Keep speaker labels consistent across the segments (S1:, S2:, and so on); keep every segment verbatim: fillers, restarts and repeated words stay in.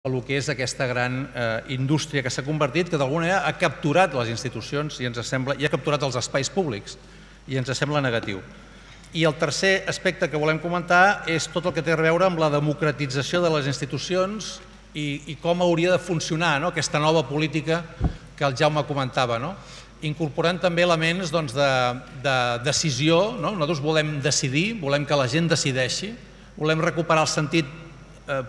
S1: el que és aquesta gran indústria que s'ha convertit, que d'alguna manera ha capturat les institucions i ens sembla, i ha capturat els espais públics i ens sembla negatiu. I el tercer aspecte que volem comentar és tot el que té a veure amb la democratització de les institucions i com hauria de funcionar aquesta nova política que el Jaume comentava, incorporant també elements de decisió. Nosaltres volem decidir, volem que la gent decideixi, volem recuperar el sentit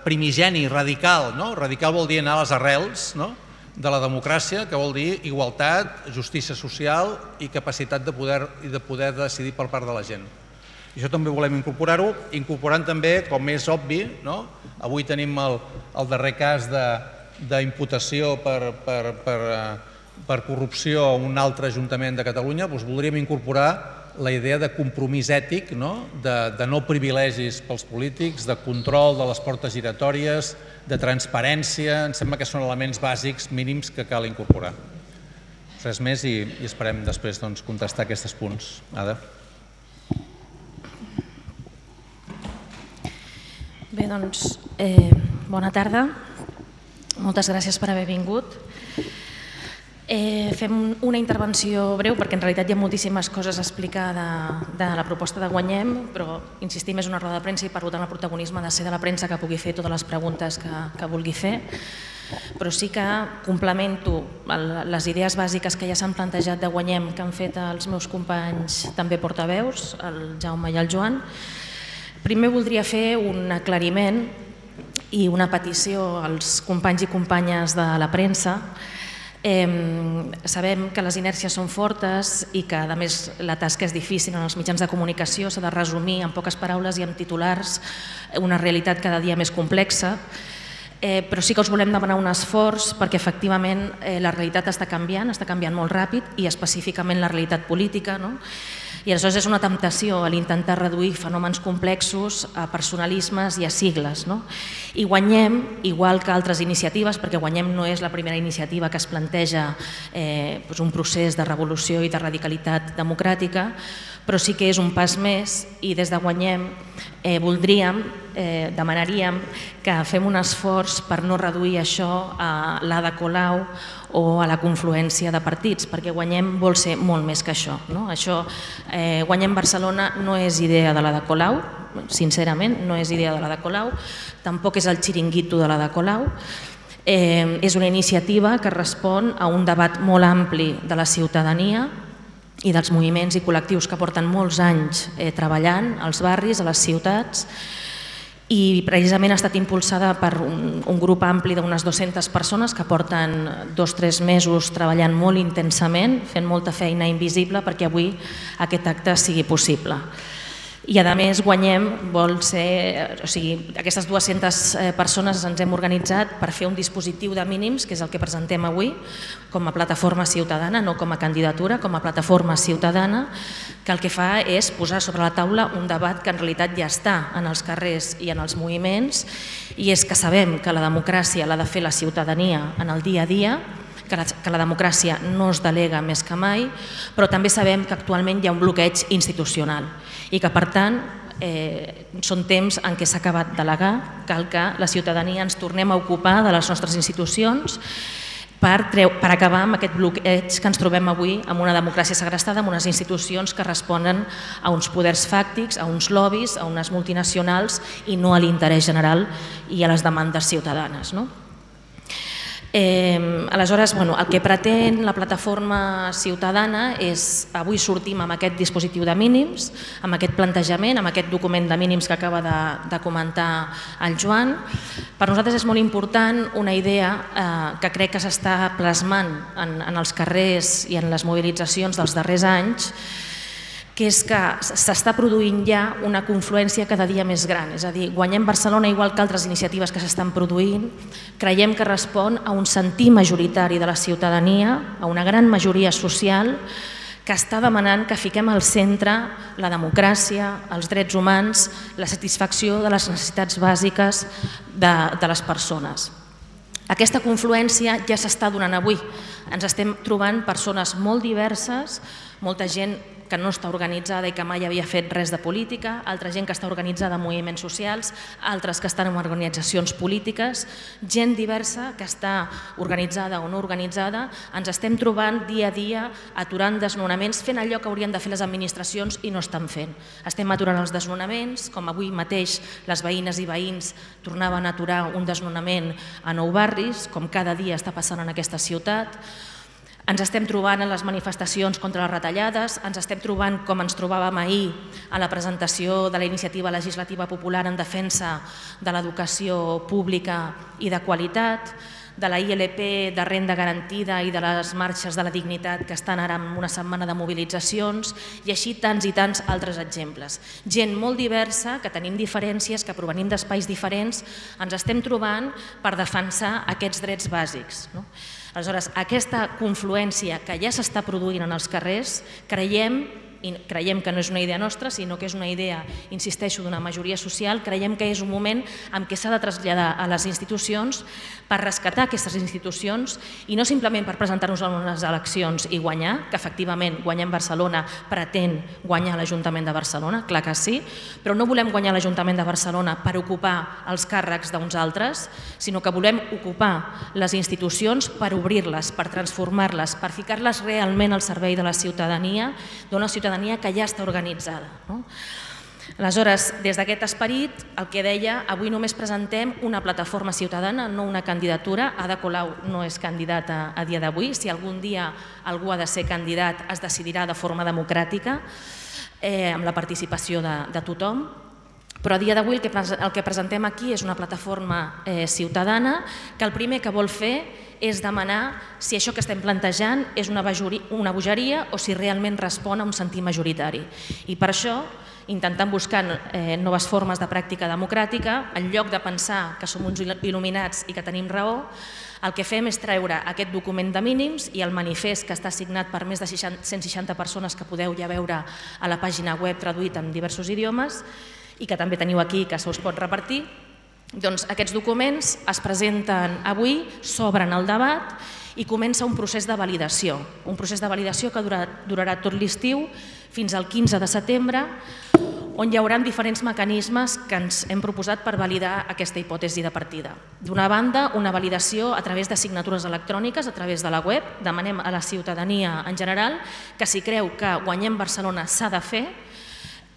S1: primigeni, radical. Radical vol dir anar a les arrels de la democràcia, que vol dir igualtat, justícia social i capacitat de poder decidir per part de la gent. Això també volem incorporar-ho, incorporant també, com és obvi, avui tenim el darrer cas d'imputació per corrupció a un altre ajuntament de Catalunya, doncs voldríem incorporar la idea de compromís ètic, de no privilegis pels polítics, de control de les portes giratòries, de transparència. Em sembla que són elements bàsics mínims que cal incorporar. Res més i esperem després contestar aquests punts. Ada.
S2: Bé, doncs, bona tarda. Moltes gràcies per haver vingut. Fem una intervenció breu perquè en realitat hi ha moltíssimes coses a explicar de la proposta de Guanyem, però insistim, és una roda de premsa i per tant el protagonisme ha de ser de la premsa que pugui fer totes les preguntes que vulgui fer, però sí que complemento les idees bàsiques que ja s'han plantejat de Guanyem que han fet els meus companys també portaveus, el Jaume i el Joan. Primer voldria fer un aclariment i una petició als companys i companyes de la premsa. Sabem que les inèrcies són fortes i que a més la tasca és difícil en els mitjans de comunicació, s'ha de resumir en poques paraules i en titulars una realitat cada dia més complexa, però sí que us volem demanar un esforç perquè efectivament la realitat està canviant, està canviant molt ràpid i específicament la realitat política, i aleshores és una temptació a l'intentar reduir fenòmens complexos a personalismes i a sigles. I Guanyem, igual que altres iniciatives, perquè Guanyem no és la primera iniciativa que es planteja un procés de revolució i de radicalitat democràtica, però sí que és un pas més i des de Guanyem voldríem, demanaríem que fem un esforç per no reduir això a l'Ada Colau o a la confluència de partits, perquè Guanyem vol ser molt més que això. Guanyem Barcelona no és idea de l'Ada Colau, sincerament, no és idea de l'Ada Colau, tampoc és el xiringuito de l'Ada Colau, és una iniciativa que respon a un debat molt ampli de la ciutadania i dels moviments i col·lectius que porten molts anys treballant als barris, a les ciutats, i precisament ha estat impulsada per un grup ampli d'unes dues-centes persones que porten dos o tres mesos treballant molt intensament, fent molta feina invisible perquè avui aquest acte sigui possible. I a més Guanyem vol ser, o sigui, aquestes dues-centes persones ens hem organitzat per fer un dispositiu de mínims, que és el que presentem avui, com a plataforma ciutadana, no com a candidatura, com a plataforma ciutadana, que el que fa és posar sobre la taula un debat que en realitat ja està en els carrers i en els moviments, i és que sabem que la democràcia l'ha de fer la ciutadania en el dia a dia, que la democràcia no es delega més que mai, però també sabem que actualment hi ha un bloqueig institucional i que, per tant, són temps en què s'ha acabat de delegar, cal que la ciutadania ens tornem a ocupar de les nostres institucions per acabar amb aquest bloqueig que ens trobem avui amb una democràcia segrestada, amb unes institucions que responen a uns poders fàctics, a uns lobbies, a unes multinacionals i no a l'interès general i a les demandes ciutadanes. Aleshores, el que pretén la plataforma ciutadana és, avui sortim amb aquest dispositiu de mínims, amb aquest plantejament, amb aquest document de mínims que acaba de comentar el Joan. Per nosaltres és molt important una idea que crec que s'està plasmant en els carrers i en les mobilitzacions dels darrers anys, que és que s'està produint ja una confluència cada dia més gran. És a dir, Guanyem Barcelona, igual que altres iniciatives que s'estan produint, creiem que respon a un sentir majoritari de la ciutadania, a una gran majoria social que està demanant que fiquem al centre la democràcia, els drets humans, la satisfacció de les necessitats bàsiques de les persones. Aquesta confluència ja s'està donant avui. Ens estem trobant persones molt diverses, molta gent que no està organitzada i que mai havia fet res de política, altra gent que està organitzada en moviments socials, altres que estan en organitzacions polítiques, gent diversa que està organitzada o no organitzada. Ens estem trobant dia a dia aturant desnonaments, fent allò que haurien de fer les administracions i no estan fent. Estem aturant els desnonaments, com avui mateix les veïnes i veïns tornaven a aturar un desnonament a Nou Barris, com cada dia està passant en aquesta ciutat. Ens estem trobant en les manifestacions contra les retallades, ens estem trobant com ens trobàvem ahir a la presentació de la iniciativa legislativa popular en defensa de l'educació pública i de qualitat, de la I L P de renda garantida i de les marxes de la dignitat que estan ara en una setmana de mobilitzacions i així tants i tants altres exemples. Gent molt diversa, que tenim diferències, que provenim d'espais diferents, ens estem trobant per defensar aquests drets bàsics. Aleshores, aquesta confluència que ja s'està produint en els carrers, creiem i creiem que no és una idea nostra, sinó que és una idea, insisteixo, d'una majoria social, creiem que és un moment en què s'ha de traslladar a les institucions per rescatar aquestes institucions i no simplement per presentar-nos a unes eleccions i guanyar, que efectivament guanyem Barcelona pretén guanyar l'Ajuntament de Barcelona, clar que sí, però no volem guanyar l'Ajuntament de Barcelona per ocupar els càrrecs d'uns altres, sinó que volem ocupar les institucions per obrir-les, per transformar-les, per ficar-les realment al servei de la ciutadania, d'una ciutadania que ja està organitzada. Aleshores, des d'aquest esperit, el que deia, avui només presentem una plataforma ciutadana, no una candidatura. Ada Colau no és candidata a dia d'avui. Si algun dia algú ha de ser candidat, es decidirà de forma democràtica, amb la participació de tothom. Però a dia d'avui el que presentem aquí és una plataforma ciutadana que el primer que vol fer és demanar si això que estem plantejant és una bogeria o si realment respon a un sentir majoritari. I per això, intentant buscar noves formes de pràctica democràtica, en lloc de pensar que som uns il·luminats i que tenim raó, el que fem és treure aquest document de mínims i el manifest que està signat per més de cent seixanta persones que podeu ja veure a la pàgina web traduït en diversos idiomes i que també teniu aquí, que se us pot repartir. Doncs aquests documents es presenten avui, s'obren al debat i comença un procés de validació, un procés de validació que durarà tot l'estiu fins al quinze de setembre, on hi haurà diferents mecanismes que ens hem proposat per validar aquesta hipòtesi de partida. D'una banda, una validació a través de signatures electròniques, a través de la web. Demanem a la ciutadania en general que si creu que Guanyem Barcelona s'ha de fer,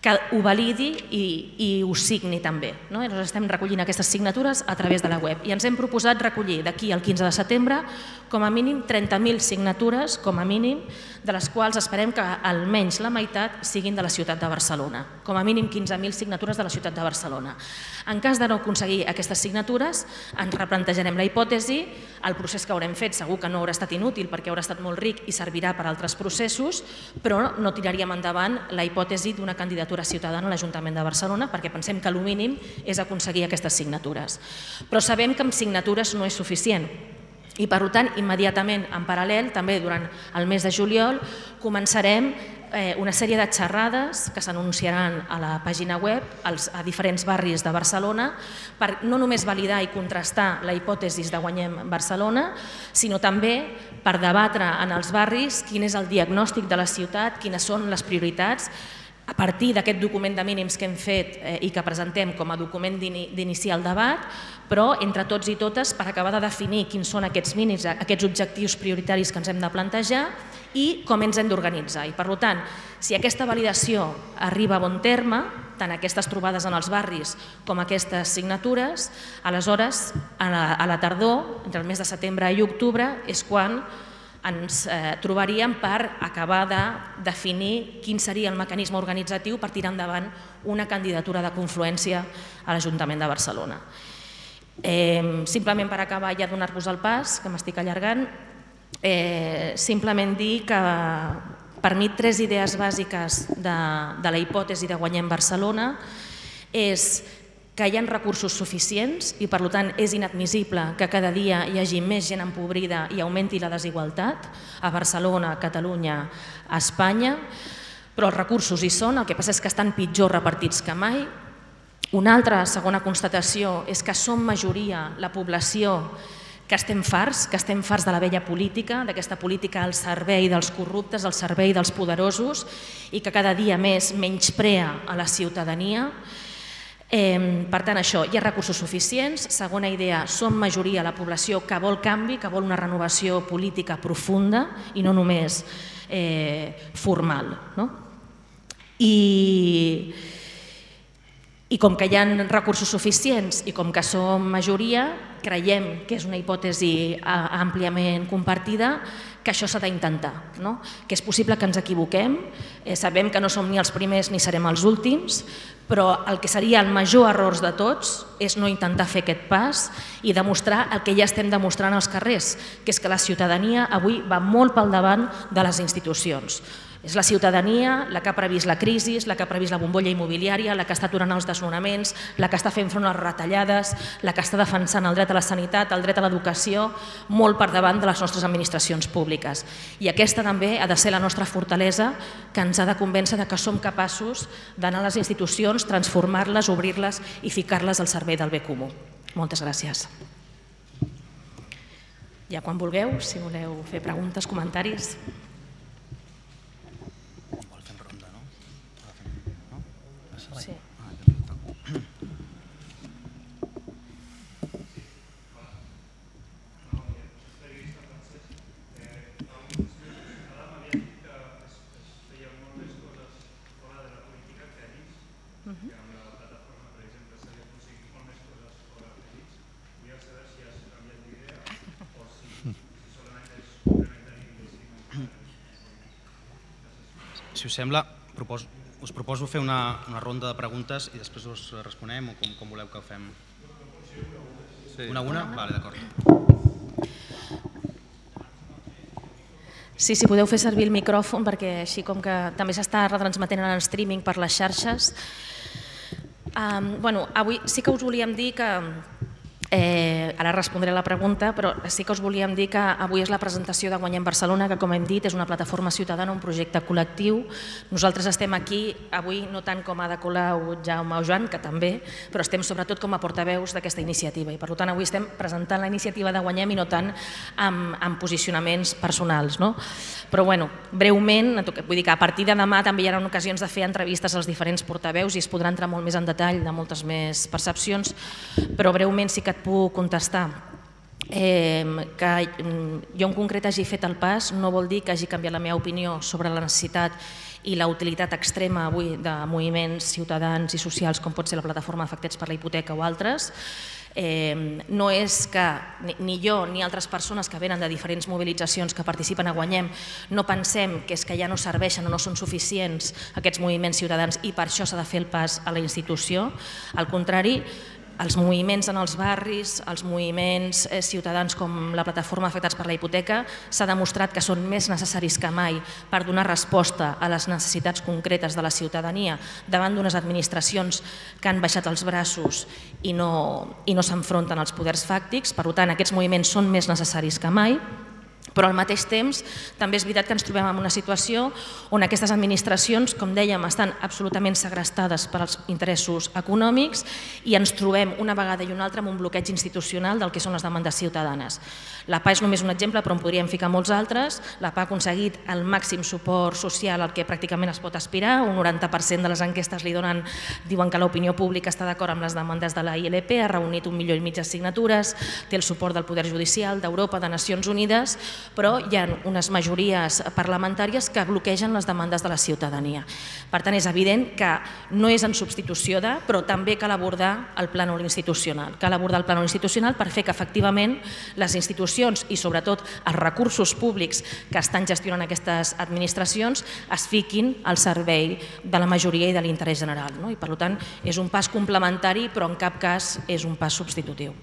S2: que ho validi i ho signi també. Nosaltres estem recollint aquestes signatures a través de la web i ens hem proposat recollir d'aquí al quinze de setembre com a mínim trenta mil signatures, com a mínim, de les quals esperem que almenys la meitat siguin de la ciutat de Barcelona, com a mínim quinze mil signatures de la ciutat de Barcelona. En cas de no aconseguir aquestes signatures, ens replantejarem la hipòtesi, el procés que haurem fet segur que no haurà estat inútil perquè haurà estat molt ric i servirà per a altres processos, però no tiraríem endavant la hipòtesi d'una candidatura ciutadana a l'Ajuntament de Barcelona perquè pensem que el mínim és aconseguir aquestes signatures. Però sabem que amb signatures no és suficient i per tant immediatament en paral·lel, també durant el mes de juliol, començarem una sèrie de xerrades que s'anunciaran a la pàgina web a diferents barris de Barcelona per no només validar i contrastar la hipòtesi de Guanyem Barcelona, sinó també per debatre en els barris quin és el diagnòstic de la ciutat, quines són les prioritats, a partir d'aquest document de mínims que hem fet i que presentem com a document d'iniciar el debat, però entre tots i totes per acabar de definir quins són aquests mínims, aquests objectius prioritaris que ens hem de plantejar i com ens hem d'organitzar. I per tant, si aquesta validació arriba a bon terme, tant aquestes trobades en els barris com aquestes signatures, aleshores a la tardor, entre el mes de setembre i octubre, és quan ens trobaríem per acabar de definir quin seria el mecanisme organitzatiu per tirar endavant una candidatura de confluència a l'Ajuntament de Barcelona. Simplement per acabar ja donar-vos el pas, que m'estic allargant, simplement dir que per mi tres idees bàsiques de la hipòtesi de Guanyem Barcelona és que hi ha recursos suficients i per tant és inadmissible que cada dia hi hagi més gent empobrida i augmenti la desigualtat a Barcelona, a Catalunya, a Espanya, però els recursos hi són, el que passa és que estan pitjor repartits que mai. Una altra segona constatació és que som majoria la població que que estem farts, que estem farts de la vella política, d'aquesta política al servei dels corruptes, al servei dels poderosos i que cada dia més menysprea a la ciutadania. Per tant, això, hi ha recursos suficients. Segona idea, som majoria la població que vol canvi, que vol una renovació política profunda i no només formal. I com que hi ha recursos suficients i com que som majoria, creiem que és una hipòtesi àmpliament compartida, que això s'ha d'intentar, que és possible que ens equivoquem, sabem que no som ni els primers ni serem els últims, però el que seria el major error de tots és no intentar fer aquest pas i demostrar el que ja estem demostrant als carrers, que és que la ciutadania avui va molt pel davant de les institucions. És la ciutadania la que ha previst la crisi, la que ha previst la bombolla immobiliària, la que està aturant els desnonaments, la que està fent front a les retallades, la que està defensant el dret a la sanitat, el dret a l'educació, molt per davant de les nostres administracions públiques. I aquesta també ha de ser la nostra fortalesa, que ens ha de convèncer que som capaços d'anar a les institucions, transformar-les, obrir-les i ficar-les al servei del bé comú. Moltes gràcies. Ja quan vulgueu, si voleu fer preguntes, comentaris. Sí.
S3: Si us sembla, proposo us proposo fer una ronda de preguntes i després us responem o com voleu que ho fem? Una a una? Vale, d'acord.
S2: Sí, si podeu fer servir el micròfon, perquè així com que també s'està retransmetent en streaming per les xarxes. Bueno, avui sí que us volíem dir que... Ara respondré a la pregunta, però sí que us volíem dir que avui és la presentació de Guanyem Barcelona, que com hem dit és una plataforma ciutadana, un projecte col·lectiu. Nosaltres estem aquí avui no tant com a Ada Colau, Jaume o Joan, que també, però estem sobretot com a portaveus d'aquesta iniciativa i per tant avui estem presentant la iniciativa de Guanyem i no tant amb posicionaments personals. Però bueno, breument, vull dir que a partir de demà també hi haurà ocasions de fer entrevistes als diferents portaveus i es podrà entrar molt més en detall de moltes més percepcions, però breument sí que et puc contestar que jo en concret hagi fet el pas no vol dir que hagi canviat la meva opinió sobre la necessitat i la utilitat extrema avui de moviments ciutadans i socials com pot ser la plataforma Afectats per la Hipoteca o altres. No és que ni jo ni altres persones que venen de diferents mobilitzacions que participen a Guanyem no pensem que és que ja no serveixen o no són suficients aquests moviments ciutadans i per això s'ha de fer el pas a la institució. Al contrari, els moviments en els barris, els moviments ciutadans com la plataforma Afectats per la Hipoteca s'ha demostrat que són més necessaris que mai per donar resposta a les necessitats concretes de la ciutadania davant d'unes administracions que han baixat els braços i no s'enfronten als poders fàctics. Per tant, aquests moviments són més necessaris que mai. Però al mateix temps també és veritat que ens trobem en una situació on aquestes administracions, com dèiem, estan absolutament segrestades per als interessos econòmics i ens trobem una vegada i una altra amb un bloqueig institucional del que són les demandes ciutadanes. La P A és només un exemple, però en podríem ficar molts altres. La P A ha aconseguit el màxim suport social al que pràcticament es pot aspirar. Un noranta per cent de les enquestes li donen, diuen que l'opinió pública està d'acord amb les demandes de la I L P, ha reunit un milió i mig de signatures, té el suport del Poder Judicial, d'Europa, de Nacions Unides, però hi ha unes majories parlamentàries que bloquegen les demandes de la ciutadania. Per tant, és evident que no és en substitució de, però també cal abordar el plànol institucional. Cal abordar el plànol institucional per fer que efectivament les institucions i sobretot els recursos públics que estan gestionant aquestes administracions es fiquin al servei de la majoria i de l'interès general. I per tant, és un pas complementari, però en cap cas és un pas substitutiu.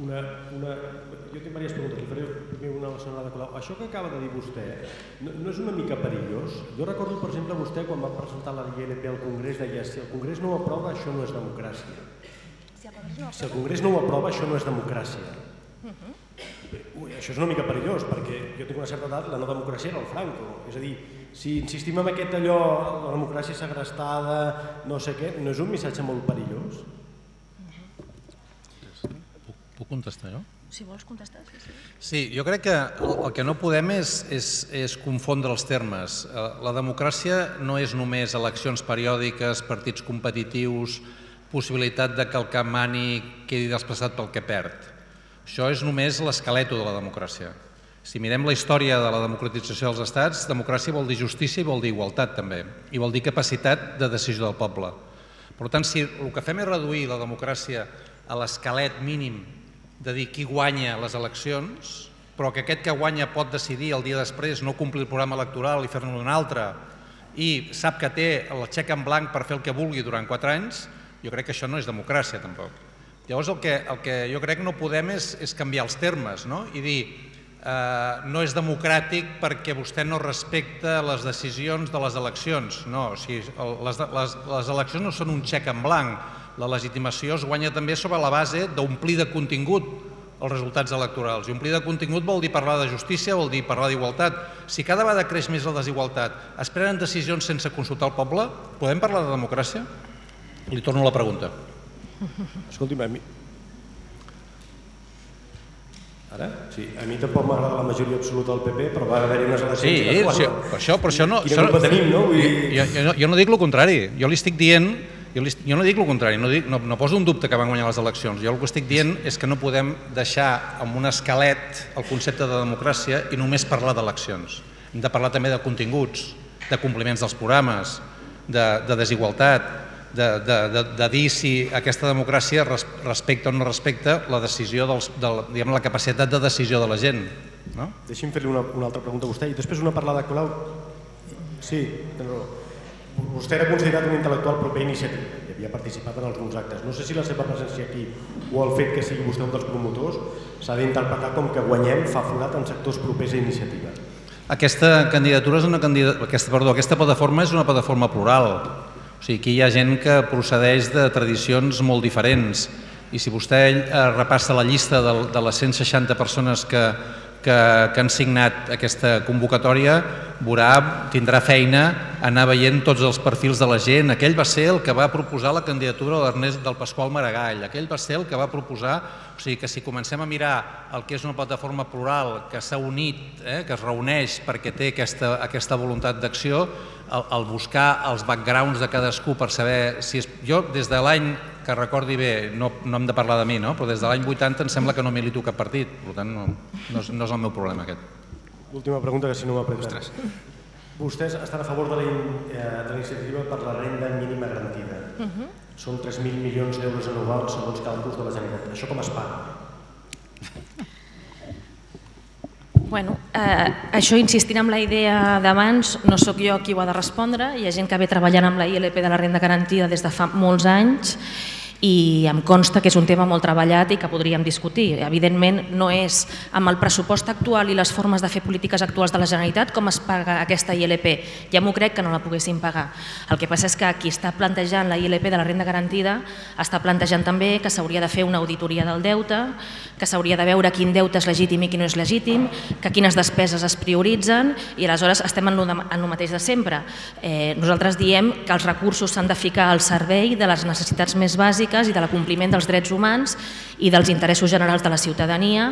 S4: Jo tinc diverses preguntes, li faré primer una a la senyora Ada Colau. Això que acaba de dir vostè no és una mica perillós? Jo recordo, per exemple, vostè quan va presentar la I L P al Congrés deia si el Congrés no ho aprova, això no és democràcia. Si el Congrés no ho aprova, això no és democràcia. Ui, això és una mica perillós, perquè jo tinc una certa edat, la no democràcia era el Franco. És a dir, si insistim en aquest allò, la democràcia segrestada, no sé què, no és un missatge molt perillós?
S1: Puc contestar jo?
S2: Si vols contestar, sí, sí.
S1: Sí, jo crec que el que no podem és, és, és confondre els termes. La democràcia no és només eleccions periòdiques, partits competitius, possibilitat de que el que mani quedi desplaçat pel que perd. Això és només l'esqueleto de la democràcia. Si mirem la història de la democratització dels estats, democràcia vol dir justícia i vol dir igualtat també, i vol dir capacitat de decisió del poble. Per tant, si el que fem és reduir la democràcia a l'esquelet mínim de dir qui guanya les eleccions, però que aquest que guanya pot decidir el dia després no complir el programa electoral i fer-ne un altre, i sap que té el xec en blanc per fer el que vulgui durant quatre anys, jo crec que això no és democràcia tampoc. Llavors el que, el que jo crec que no podem és, és canviar els termes, no? I dir eh, no és democràtic perquè vostè no respecta les decisions de les eleccions. No, o sigui, les, les, les eleccions no són un xec en blanc. La legitimació es guanya també sobre la base d'omplir de contingut els resultats electorals. I omplir de contingut vol dir parlar de justícia, vol dir parlar d'igualtat. Si cada vegada creix més la desigualtat, es prenen decisions sense consultar el poble, podem parlar de democràcia? Li torno la pregunta.
S4: Escolti'm, a mi... Ara? Sí, a mi tampoc m'agrada la majoria absoluta del P P, però va haver-hi unes eleccions...
S1: Sí, sí, per això, per això no...
S4: Quina culpa tenim, no?
S1: Jo, jo, jo no dic el contrari, jo li estic dient... Jo, li, jo no dic el contrari, no, dic, no, no poso un dubte que van guanyar les eleccions. Jo el que estic dient és que no podem deixar amb un esquelet el concepte de democràcia i només parlar d'eleccions. Hem de parlar també de continguts, de compliments dels programes, de, de desigualtat, de, de, de, de dir si aquesta democràcia res, respecta o no respecta la decisió dels, de, diguem, la capacitat de decisió de la gent. No?
S4: Deixi'm fer-li una, una altra pregunta a vostè i després una parlada clau. Sí, tens raó. Vostè era considerat un intel·lectual proper a Iniciativa i havia participat en alguns actes. No sé si la seva presència aquí o el fet que sigui vostè un dels promotors s'ha d'interpretar com que guanyem fa forat en sectors propers a Iniciativa.
S1: Aquesta candidatura és una candidatura, aquesta, perdó, aquesta plataforma és una plataforma plural. O sigui, aquí hi ha gent que procedeix de tradicions molt diferents i si vostè repassa la llista de, de les cent seixanta persones que, que, que han signat aquesta convocatòria, veurà, tindrà feina anar veient tots els perfils de la gent. Aquell va ser el que va proposar la candidatura de l'Ernest del Pasqual Maragall. Aquell va ser el que va proposar... O sigui que si comencem a mirar el que és una plataforma plural que s'ha unit, eh, que es reuneix perquè té aquesta, aquesta voluntat d'acció, el, el buscar els backgrounds de cadascú per saber si és... Jo, des de l'any que recordi bé, no, no hem de parlar de mi, no? Però des de l'any vuitanta em sembla que no milito cap partit. Per tant, no, no, és, no és el meu problema aquest.
S4: Última pregunta, que si no m'apreta. Vostès estan a favor de la, eh, de la iniciativa per la renda mínima garantida. Uh-huh. Són tres mil milions d'euros anuals segons càlculs de la Generalitat. Això com es paga?
S2: Bueno, eh, això insistint en la idea d'abans, no sóc jo qui ho ha de respondre, hi ha gent que ve treballant amb la I L P de la renda garantida des de fa molts anys i em consta que és un tema molt treballat i que podríem discutir. Evidentment, no és amb el pressupost actual i les formes de fer polítiques actuals de la Generalitat com es paga aquesta I L P. Ja m'ho crec que no la poguessin pagar. El que passa és que qui està plantejant la I L P de la renda garantida està plantejant també que s'hauria de fer una auditoria del deute, que s'hauria de veure quin deute és legítim i quin no és legítim, que quines despeses es prioritzen i aleshores estem en el mateix de sempre. Eh, nosaltres diem que els recursos s'han de ficar al servei de les necessitats més bàsiques i de l'acompliment dels drets humans i dels interessos generals de la ciutadania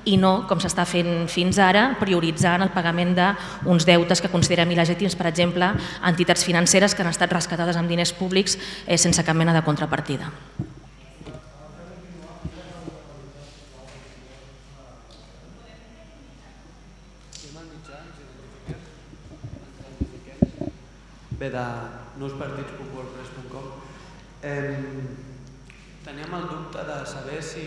S2: i no, com s'està fent fins ara, prioritzant el pagament d'uns deutes que considerem il·legítims, per exemple, entitats financeres que han estat rescatades amb diners públics eh, sense cap mena de contrapartida.
S5: Bé, de nouspartitspopulars punt com teníem el dubte de saber si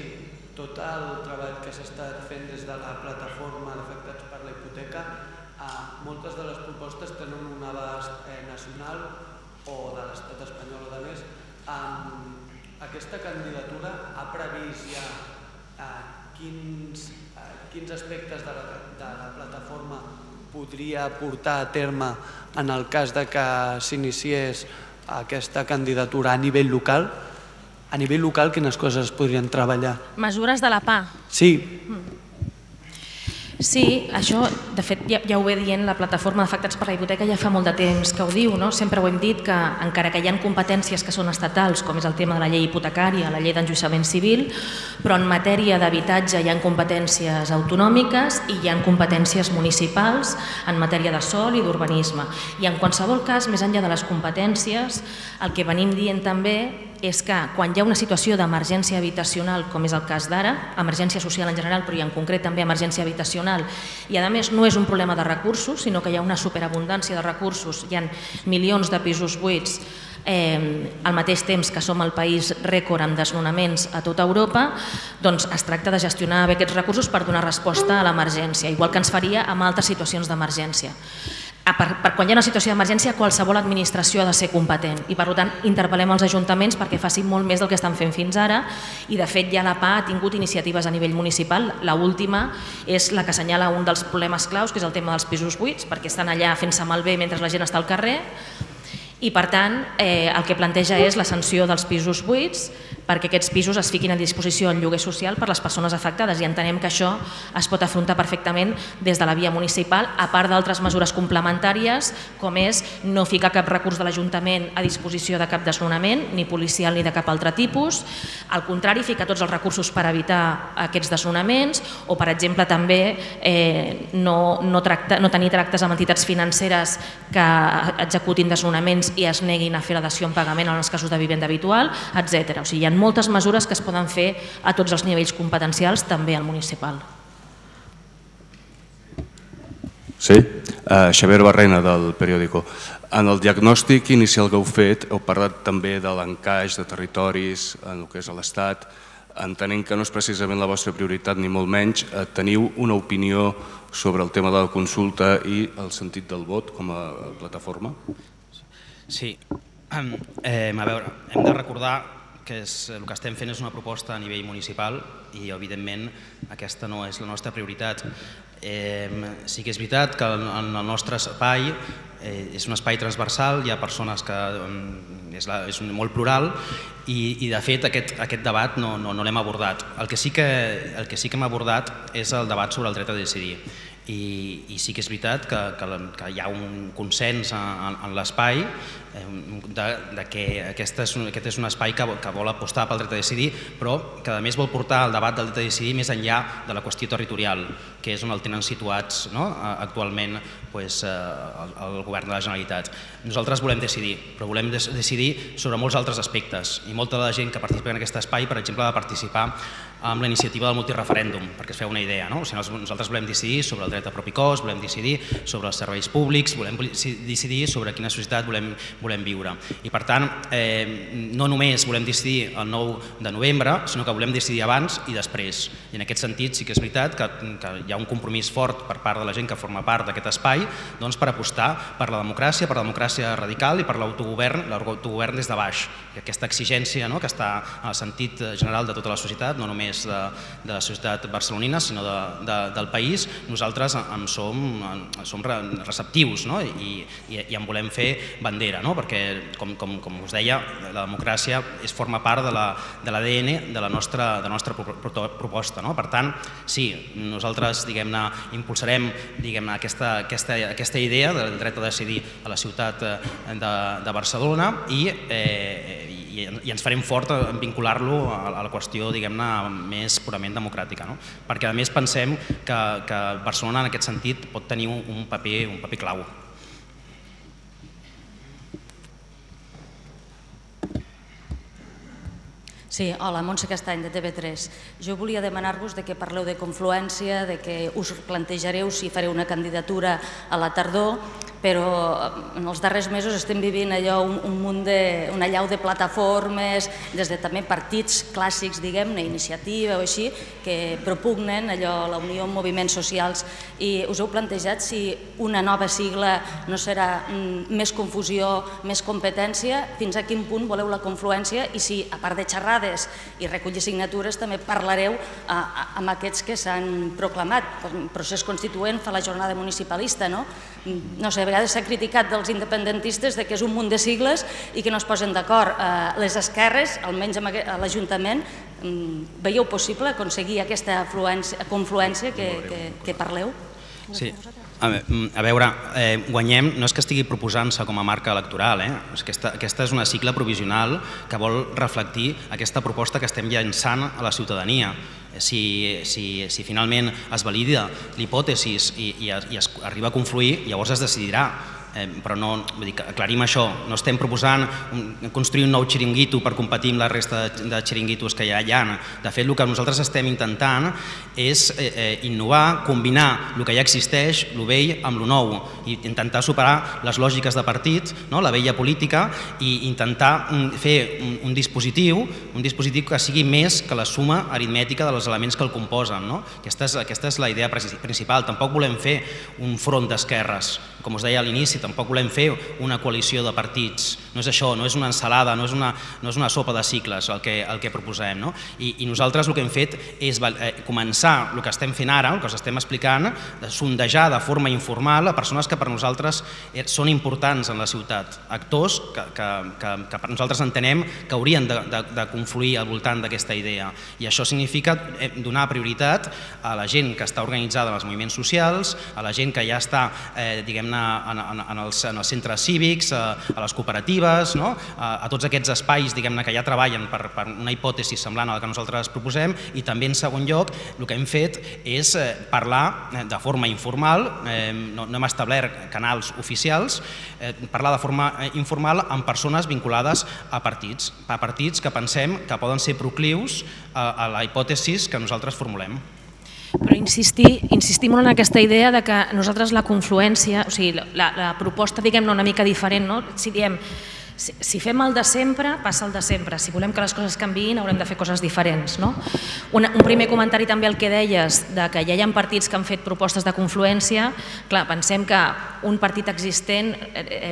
S5: tot el treball que s'ha estat fent des de la plataforma d'afectats per la hipoteca, moltes de les propostes tenen un abast nacional o de l'estat espanyol o de més. Aquesta candidatura ha previst ja quins aspectes de la plataforma podria portar a terme en el cas de que s'iniciés aquesta candidatura a nivell local? A nivell local, quines coses es podrien treballar?
S2: Mesures de la P A.
S5: Sí.
S2: Sí, això, de fet, ja, ja ho ve dient la plataforma d'afectats per la hipoteca, ja fa molt de temps que ho diu, no? Sempre ho hem dit que encara que hi ha competències que són estatals, com és el tema de la llei hipotecària, la llei d'enjudiciament civil, però en matèria d'habitatge hi ha competències autonòmiques i hi ha competències municipals en matèria de sòl i d'urbanisme. I en qualsevol cas, més enllà de les competències, el que venim dient també és que quan hi ha una situació d'emergència habitacional, com és el cas d'ara, emergència social en general, però i en concret també emergència habitacional, i a més no és un problema de recursos, sinó que hi ha una superabundància de recursos, hi ha milions de pisos buits, eh, al mateix temps que som el país rècord amb desnonaments a tota Europa, doncs es tracta de gestionar bé aquests recursos per donar resposta a l'emergència, igual que ens faria amb altres situacions d'emergència. Per, per quan hi ha una situació d'emergència, qualsevol administració ha de ser competent i, per tant, interpel·lem els ajuntaments perquè facin molt més del que estan fent fins ara i, de fet, ja la P A ha tingut iniciatives a nivell municipal. L'última és la que assenyala un dels problemes claus, que és el tema dels pisos buits, perquè estan allà fent-se malbé mentre la gent està al carrer i, per tant, eh, el que planteja és la sanció dels pisos buits perquè aquests pisos es fiquin a disposició en lloguer social per les persones afectades i entenem que això es pot afrontar perfectament des de la via municipal, a part d'altres mesures complementàries com és no ficar cap recurs de l'Ajuntament a disposició de cap desnonament, ni policial ni de cap altre tipus, al contrari, ficar tots els recursos per evitar aquests desnonaments o, per exemple, també eh, no, no, tracta, no tenir tractes amb entitats financeres que executin desnonaments i es neguin a fer la dació en pagament en els casos de vivenda habitual, etcètera. O sigui, hi ha moltes mesures que es poden fer a tots els nivells competencials, també al municipal.
S6: Sí, uh, Xavier Barrena, del periòdico. En el diagnòstic inicial que heu fet, heu parlat també de l'encaix de territoris en el que és l'Estat. Entenent que no és precisament la vostra prioritat, ni molt menys, teniu una opinió sobre el tema de la consulta i el sentit del vot com a plataforma?
S3: Sí, eh, a veure, hem de recordar que és, el que estem fent és una proposta a nivell municipal i, evidentment, aquesta no és la nostra prioritat. Eh, sí que és veritat que en el nostre espai eh, és un espai transversal, hi ha persones que és, la, és molt plural i, i de fet, aquest, aquest debat no, no, no l'hem abordat. El que, sí que, el que sí que hem abordat és el debat sobre el dret a decidir. I, i sí que és veritat que, que, que hi ha un consens en, en l'espai de, de que aquest és, un, aquest és un espai que, que vol apostar pel dret a decidir, però que a més vol portar el debat del dret a decidir més enllà de la qüestió territorial, que és on el tenen situats, no? Actualment pues, el, el govern de la Generalitat. Nosaltres volem decidir, però volem decidir sobre molts altres aspectes i molta de la gent que participa en aquest espai, per exemple, ha de participar amb la iniciativa del multireferèndum, perquè es feu una idea. No? O sigui, nosaltres volem decidir sobre el dret a propi cos, volem decidir sobre els serveis públics, volem decidir sobre quina societat volem, volem viure. I per tant, eh, no només volem decidir el nou de novembre, sinó que volem decidir abans i després. I en aquest sentit sí que és veritat que, que hi ha un compromís fort per part de la gent que forma part d'aquest espai doncs, per apostar per la democràcia, per la democràcia radical i per l'autogovern, l'autogovern des de baix. I aquesta exigència, no?, que està en el sentit general de tota la societat, no només De, de la societat barcelonina, sinó de, de, del país, nosaltres en som, en, som receptius, no? I, i, i en volem fer bandera, no? Perquè, com, com, com us deia, la democràcia és, forma part de l'A D N de la nostra, de la nostra proposta. No? Per tant, sí, nosaltres diguem-ne impulsarem diguem-ne aquesta, aquesta, aquesta idea del dret a decidir a la ciutat de, de Barcelona i eh, i ens farem fort en vincular-lo a la qüestió diguem-ne més purament democràtica. No? Perquè a més pensem que, que Barcelona en aquest sentit pot tenir un paper, un paper clau.
S7: Sí, hola, Montse Castany, de T V tres. Jo volia demanar-vos que parleu de confluència, de que us plantejareu si fareu una candidatura a la tardor, però en els darrers mesos estem vivint allò, un, un munt de, una allau de plataformes, des de també partits clàssics, diguem-ne, iniciativa o així, que propugnen allò, la unió amb moviments socials, i us heu plantejat si una nova sigla no serà mm, més confusió, més competència, fins a quin punt voleu la confluència i si, a part de xerrades i recollir signatures, també parlareu a, a, amb aquests que s'han proclamat. El procés constituent fa la jornada municipalista, no? no sé, a vegades s'ha criticat dels independentistes que és un munt de sigles i que no es posen d'acord. Les esquerres, almenys a l'Ajuntament, veieu possible aconseguir aquesta confluència que parleu?
S3: Sí. A veure, Guanyem no és que estigui proposant-se com a marca electoral, aquesta és una sigla provisional que vol reflectir aquesta proposta que estem llançant a la ciutadania. Si finalment es valida l'hipòtesi i es arriba a confluir, llavors es decidirà. Però aclarim això, no estem proposant construir un nou xiringuito per competir amb la resta de xiringuitos que ja hi ha. De fet, el que nosaltres estem intentant és innovar, combinar el que ja existeix, el vell, amb el nou, i intentar superar les lògiques de partit, la vella política, i intentar fer un dispositiu un dispositiu que sigui més que la suma aritmètica dels elements que el composen. Aquesta és la idea principal. Tampoc volem fer un front d'esquerres, com us deia a l'inici, tampoc volem fer una coalició de partits. No és això, no és una ensalada, no és una sopa de cicles el que proposem. I nosaltres el que hem fet és començar el que estem fent ara, el que us estem explicant, de sondejar de forma informal a persones que per nosaltres són importants en la ciutat, actors que per nosaltres entenem que haurien de confluir al voltant d'aquesta idea. I això significa donar prioritat a la gent que està organitzada en els moviments socials, a la gent que ja està, diguem-ne, en els centres cívics, a les cooperatives, a tots aquests espais que ja treballen per una hipòtesi semblant a la que nosaltres proposem, i també, en segon lloc, el que hem fet és parlar de forma informal, no hem establert canals oficials, parlar de forma informal amb persones vinculades a partits, a partits que pensem que poden ser proclius a la hipòtesi que nosaltres formulem.
S2: Però insistim en aquesta idea que nosaltres la confluència, o sigui, la proposta, diguem-ne, una mica diferent, si diem, si fem el de sempre, passa el de sempre. Si volem que les coses canviïn, haurem de fer coses diferents. Un primer comentari també al que deies, que ja hi ha partits que han fet propostes de confluència. Clar, pensem que un partit existent,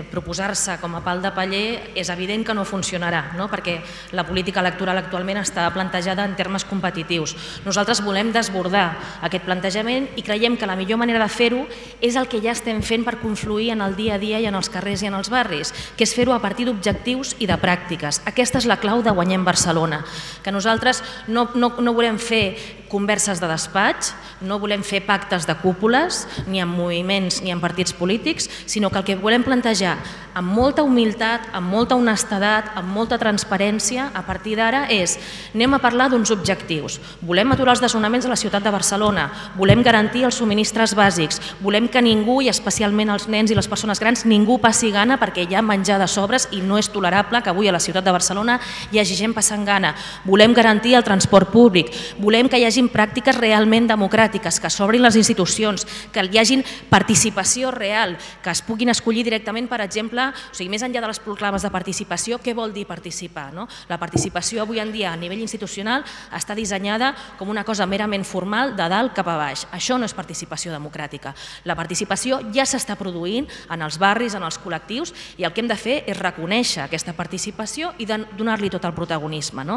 S2: proposar-se com a pal de paller, és evident que no funcionarà, perquè la política electoral actualment està plantejada en termes competitius. Nosaltres volem desbordar aquest plantejament i creiem que la millor manera de fer-ho és el que ja estem fent per confluir en el dia a dia i en els carrers i en els barris, que és fer-ho a partir d'objectius i de pràctiques. Aquesta és la clau de Guanyem Barcelona, que nosaltres no volem fer converses de despatx, no volem fer pactes de cúpules, ni amb moviments ni amb partits polítics, sinó que el que volem plantejar amb molta humilitat, amb molta honestedat, amb molta transparència, a partir d'ara és, anem a parlar d'uns objectius. Volem aturar els desnonaments a la ciutat de Barcelona, volem garantir els subministres bàsics, volem que ningú, i especialment els nens i les persones grans, ningú passi gana perquè hi ha menjar de sobres i no és tolerable que avui a la ciutat de Barcelona hi hagi gent passant gana. Volem garantir el transport públic, volem que hi hagi pràctiques realment democràtiques, que s'obrin les institucions, que hi hagi participació real, que es puguin escollir directament, per exemple, o sigui, més enllà de les proclames de participació, què vol dir participar? La participació avui en dia a nivell institucional està dissenyada com una cosa merament formal de dalt cap a baix. Això no és participació democràtica. La participació ja s'està produint en els barris, en els col·lectius, i el que hem de fer és reconèixer aquesta participació i donar-li tot el protagonisme.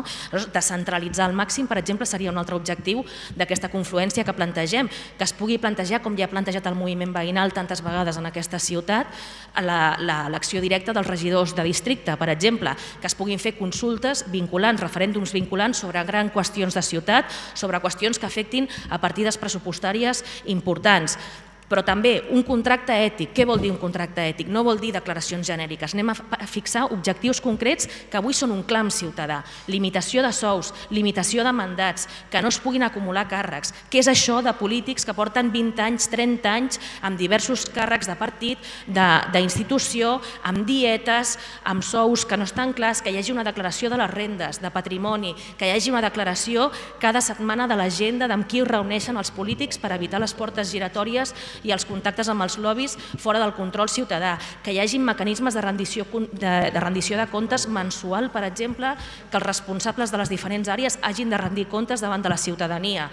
S2: Descentralitzar al màxim, per exemple, seria un altre objectiu d'aquesta confluència que plantegem, que es pugui plantejar, com ja ha plantejat el moviment veïnal tantes vegades en aquesta ciutat, l'acció directa dels regidors de districte, per exemple, que es puguin fer consultes vinculants, referèndums vinculants sobre grans qüestions de ciutat, sobre qüestions que afectin a partides pressupostàries importants. Però també un contracte ètic. Què vol dir un contracte ètic? No vol dir declaracions genèriques. Anem a fixar objectius concrets que avui són un clam ciutadà. Limitació de sous, limitació de mandats, que no es puguin acumular càrrecs. Què és això de polítics que porten vint anys, trenta anys, amb diversos càrrecs de partit, d'institució, amb dietes, amb sous que no estan clars, que hi hagi una declaració de les rendes, de patrimoni, que hi hagi una declaració cada setmana de l'agenda d'amb qui es reuneixen els polítics per evitar les portes giratòries i els contactes amb els lobbies fora del control ciutadà, que hi hagi mecanismes de rendició de comptes mensual, per exemple, que els responsables de les diferents àrees hagin de rendir comptes davant de la ciutadania.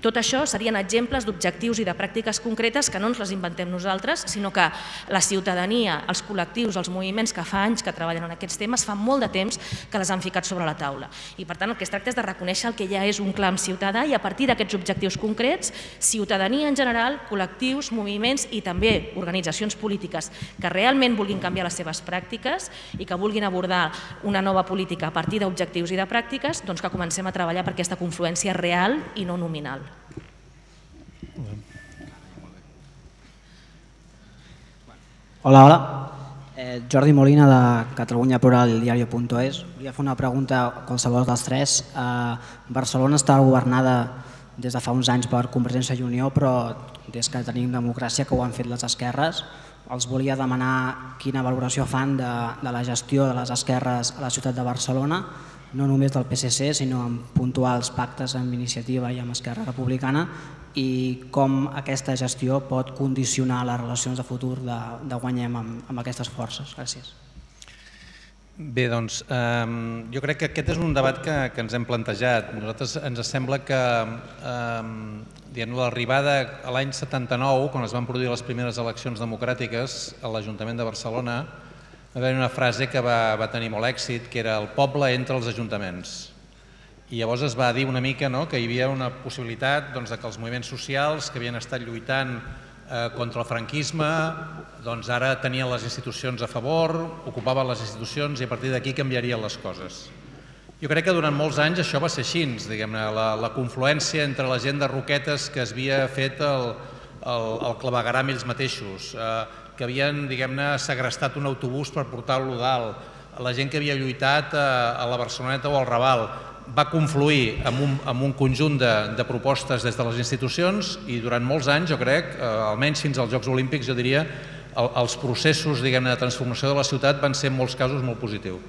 S2: Tot això serien exemples d'objectius i de pràctiques concretes que no ens les inventem nosaltres, sinó que la ciutadania, els col·lectius, els moviments que fa anys que treballen en aquests temes, fa molt de temps que les han ficat sobre la taula. I per tant el que es tracta és de reconèixer el que ja és un clam ciutadà i a partir d'aquests objectius concrets, ciutadania en general, col·lectius, col·lectius, moviments i també organitzacions polítiques que realment vulguin canviar les seves pràctiques i que vulguin abordar una nova política a partir d'objectius i de pràctiques, doncs que comencem a treballar per aquesta confluència real i no nominal.
S8: Hola, hola. Eh, Jordi Molina de Catalunya Plural i el diario punto es. Volia fer una pregunta a qualsevol dels tres. Eh, Barcelona està governada des de fa uns anys per Convergència i Unió, però des que tenim democràcia, que ho han fet les esquerres, els volia demanar quina valoració fan de, de la gestió de les esquerres a la ciutat de Barcelona, no només del P S C, sinó amb puntuals pactes amb Iniciativa i amb Esquerra Republicana, i com aquesta gestió pot condicionar les relacions de futur de, de Guanyem amb, amb aquestes forces. Gràcies.
S1: Bé, doncs, eh, jo crec que aquest és un debat que, que ens hem plantejat. Nosaltres ens sembla que eh, l'arribada a l'any setanta-nou, quan es van produir les primeres eleccions democràtiques a l'Ajuntament de Barcelona, va haver una frase que va, va tenir molt èxit, que era el poble entre els ajuntaments. I llavors es va dir una mica no, que hi havia una possibilitat doncs, de que els moviments socials que havien estat lluitant eh, contra el franquisme doncs ara tenien les institucions a favor, ocupaven les institucions i a partir d'aquí canviarien les coses. Jo crec que durant molts anys això va ser així, diguem-ne, la, la confluència entre la gent de Roquetes que es havia fet el, el, el clavegueram ells mateixos, eh, que havien, diguem-ne, segrestat un autobús per portar-lo dalt, la gent que havia lluitat a, a la Barceloneta o al Raval, va confluir en un, en un conjunt de, de propostes des de les institucions i durant molts anys, jo crec, eh, almenys fins als Jocs Olímpics, jo diria, el, els processos diguem-ne de transformació de la ciutat van ser en molts casos molt positius.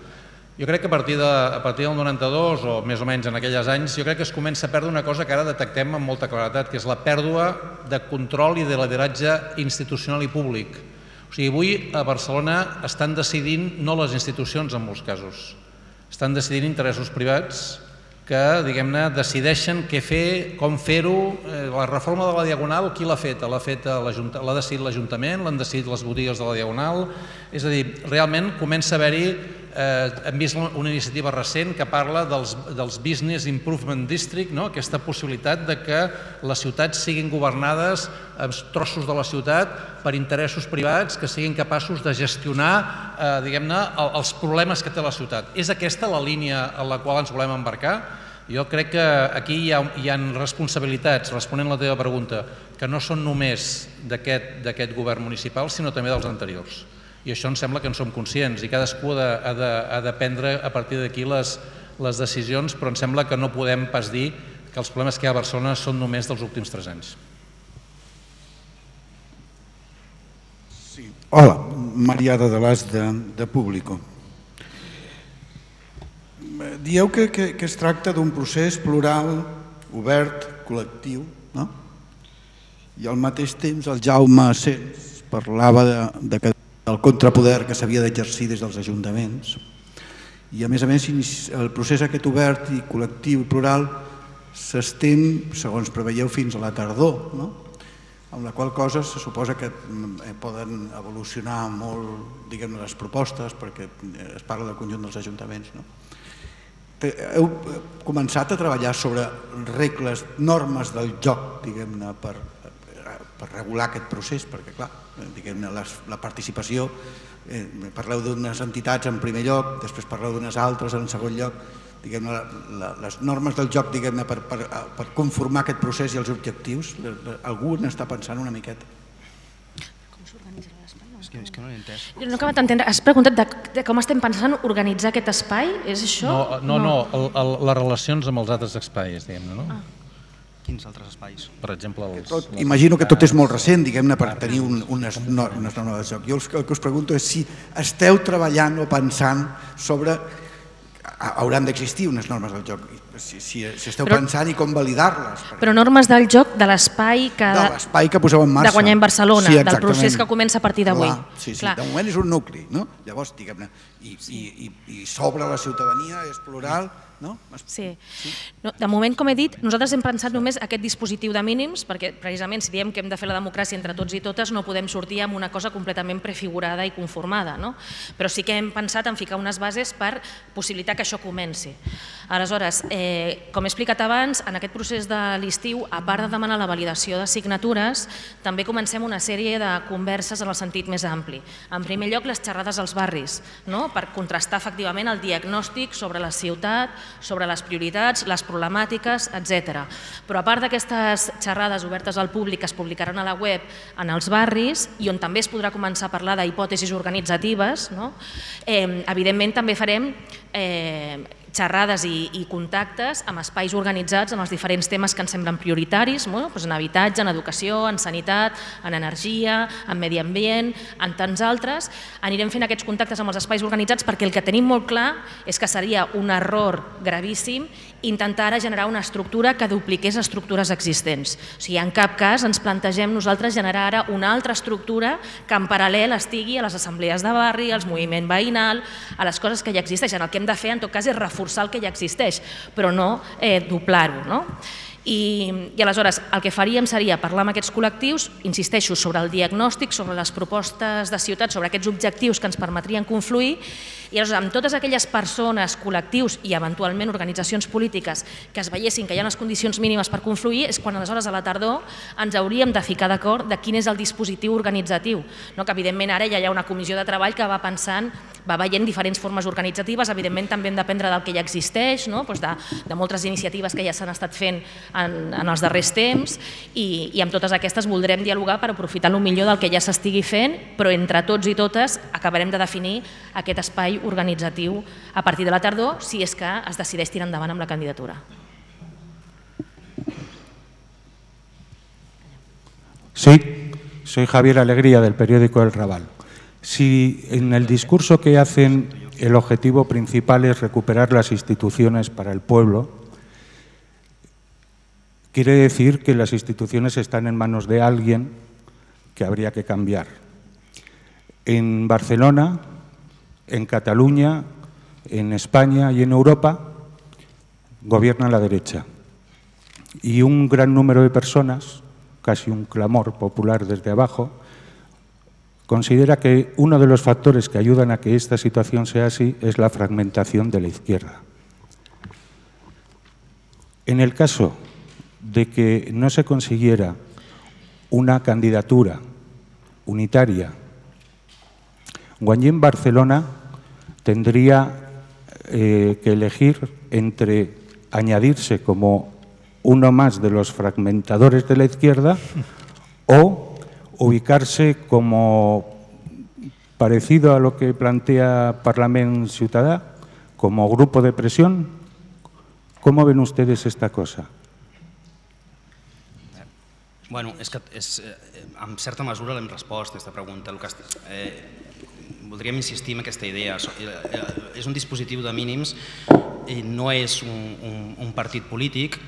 S1: Jo crec que a partir, de, a partir del noranta-dos o més o menys en aquells anys, jo crec que es comença a perdre una cosa que ara detectem amb molta claretat, que és la pèrdua de control i de lideratge institucional i públic. O sigui, avui a Barcelona estan decidint no les institucions en molts casos, estan decidint interessos privats que, diguem-ne, decideixen què fer, com fer-ho. La reforma de la Diagonal, qui l'ha feta? L'ha decidit l'Ajuntament, l'han decidit les botigues de la Diagonal. És a dir, realment comença a haver-hi, hem vist una iniciativa recent que parla dels Business Improvement District, aquesta possibilitat de que les ciutats siguin governades, trossos de la ciutat, per interessos privats que siguin capaços de gestionar, diguem-ne, els problemes que té la ciutat. És aquesta la línia en la qual ens volem embarcar? Jo crec que aquí hi ha responsabilitats, responent a la teva pregunta, que no són només d'aquest govern municipal, sinó també dels anteriors. I això em sembla que en som conscients i cadascú ha de prendre a partir d'aquí les decisions, però em sembla que no podem pas dir que els problemes que hi ha a Barcelona són només dels últims tres anys.
S9: Hola, Mariada de l'As de Público. Dieu que es tracta d'un procés plural, obert, col·lectiu, no? I al mateix temps el Jaume Sens parlava del contrapoder que s'havia d'exercir des dels ajuntaments i a més a més el procés aquest obert i col·lectiu i plural s'estén, segons preveieu, fins a la tardor, no? Amb la qual cosa se suposa que poden evolucionar molt, diguem-ne, les propostes perquè es parla del conjunt dels ajuntaments, no? Heu començat a treballar sobre regles, normes del joc, diguem-ne, per regular aquest procés, perquè, clar, diguem-ne, la participació, parleu d'unes entitats en primer lloc, després parleu d'unes altres en segon lloc, diguem-ne, les normes del joc, diguem-ne, per conformar aquest procés i els objectius, algú n'està pensant una miqueta?
S3: És que no l'he entès.
S2: Jo no he acabat d'entendre. Has preguntat de com estem pensant organitzar aquest espai? És això?
S1: No, no, les relacions amb els altres espais, diguem-ne, no?
S3: Quins altres espais?
S1: Per exemple, els...
S9: Imagino que tot és molt recent, diguem-ne, per tenir unes normes de joc. Jo el que us pregunto és si esteu treballant o pensant sobre... Hauran d'existir unes normes del joc, si esteu pensant i com validar-les.
S2: Però normes del joc de l'espai que...
S9: De l'espai que poseu en marxa.
S2: De Guanyem Barcelona, del procés que comença a partir d'avui.
S9: Sí, sí, de moment és un nucli, no? Llavors, diguem-ne, i s'obre la ciutadania, és plural, no?
S2: Sí. No, de moment, com he dit, nosaltres hem pensat només aquest dispositiu de mínims, perquè precisament si diem que hem de fer la democràcia entre tots i totes no podem sortir amb una cosa completament prefigurada i conformada, no? Però sí que hem pensat en ficar unes bases per possibilitar que això comenci. Aleshores, eh, com he explicat abans, en aquest procés de l'estiu, a part de demanar la validació de signatures, també comencem una sèrie de converses en el sentit més ampli. En primer lloc, les xerrades als barris, no? Per contrastar efectivament el diagnòstic sobre la ciutat, sobre les prioritats, les problemàtiques, etcètera. Però a part d'aquestes xerrades obertes al públic que es publicaran a la web en els barris i on també es podrà començar a parlar d'hipòtesis organitzatives, no? eh, evidentment també farem eh, xerrades i, i contactes amb espais organitzats en els diferents temes que ens semblen prioritaris, no? Doncs en habitatge, en educació, en sanitat, en energia, en medi ambient, en tants altres. Anirem fent aquests contactes amb els espais organitzats perquè el que tenim molt clar és que seria un error gravíssim intentar ara generar una estructura que dupliqués estructures existents. O sigui, en cap cas ens plantegem nosaltres generar ara una altra estructura que en paral·lel estigui a les assemblees de barri, als moviment veïnal, a les coses que ja existeixen. El que hem de fer, en tot cas, és reforçar el que ja existeix, però no eh, doblar-ho, no? I, I aleshores el que faríem seria parlar amb aquests col·lectius, insisteixo, sobre el diagnòstic, sobre les propostes de ciutat, sobre aquests objectius que ens permetrien confluir, i aleshores amb totes aquelles persones, col·lectius i eventualment organitzacions polítiques que es veiessin que hi ha les condicions mínimes per confluir, és quan aleshores a la tardor ens hauríem de ficar d'acord de quin és el dispositiu organitzatiu, no? Que evidentment ara ja hi ha una comissió de treball que va pensant, va veient diferents formes organitzatives, evidentment també hem d'aprendre del que ja existeix, no? Doncs de, de moltes iniciatives que ja s'han estat fent en, en els darrers temps i, i amb totes aquestes voldrem dialogar per aprofitar el millor del que ja s'estigui fent, però entre tots i totes acabarem de definir aquest espai organitzatiu a partir de la tardor, si és que es decideix tirar endavant amb la candidatura.
S10: Sí, soy Javier Alegría del periódico El Raval. Si en el discurso que hacen el objetivo principal es recuperar las instituciones para el pueblo, quiere decir que las instituciones están en manos de alguien que habría que cambiar. En Barcelona, en Cataluña, en España y en Europa gobierna la derecha. Y un gran número de personas, casi un clamor popular desde abajo, considera que uno de los factores que ayudan a que esta situación sea así es la fragmentación de la izquierda. En el caso de que no se consiguiera una candidatura unitaria, Guanyem Barcelona tendría eh, que elegir entre añadirse como uno más de los fragmentadores de la izquierda o ubicarse como parecido a lo que plantea Parlament Ciutadà, como grupo de presión. ¿Cómo ven ustedes esta cosa?
S3: Bueno, és que és, en certa mesura l'hem respost a aquesta pregunta. El que, eh, voldríem insistir en aquesta idea. És un dispositiu de mínims, no és un, un, un partit polític,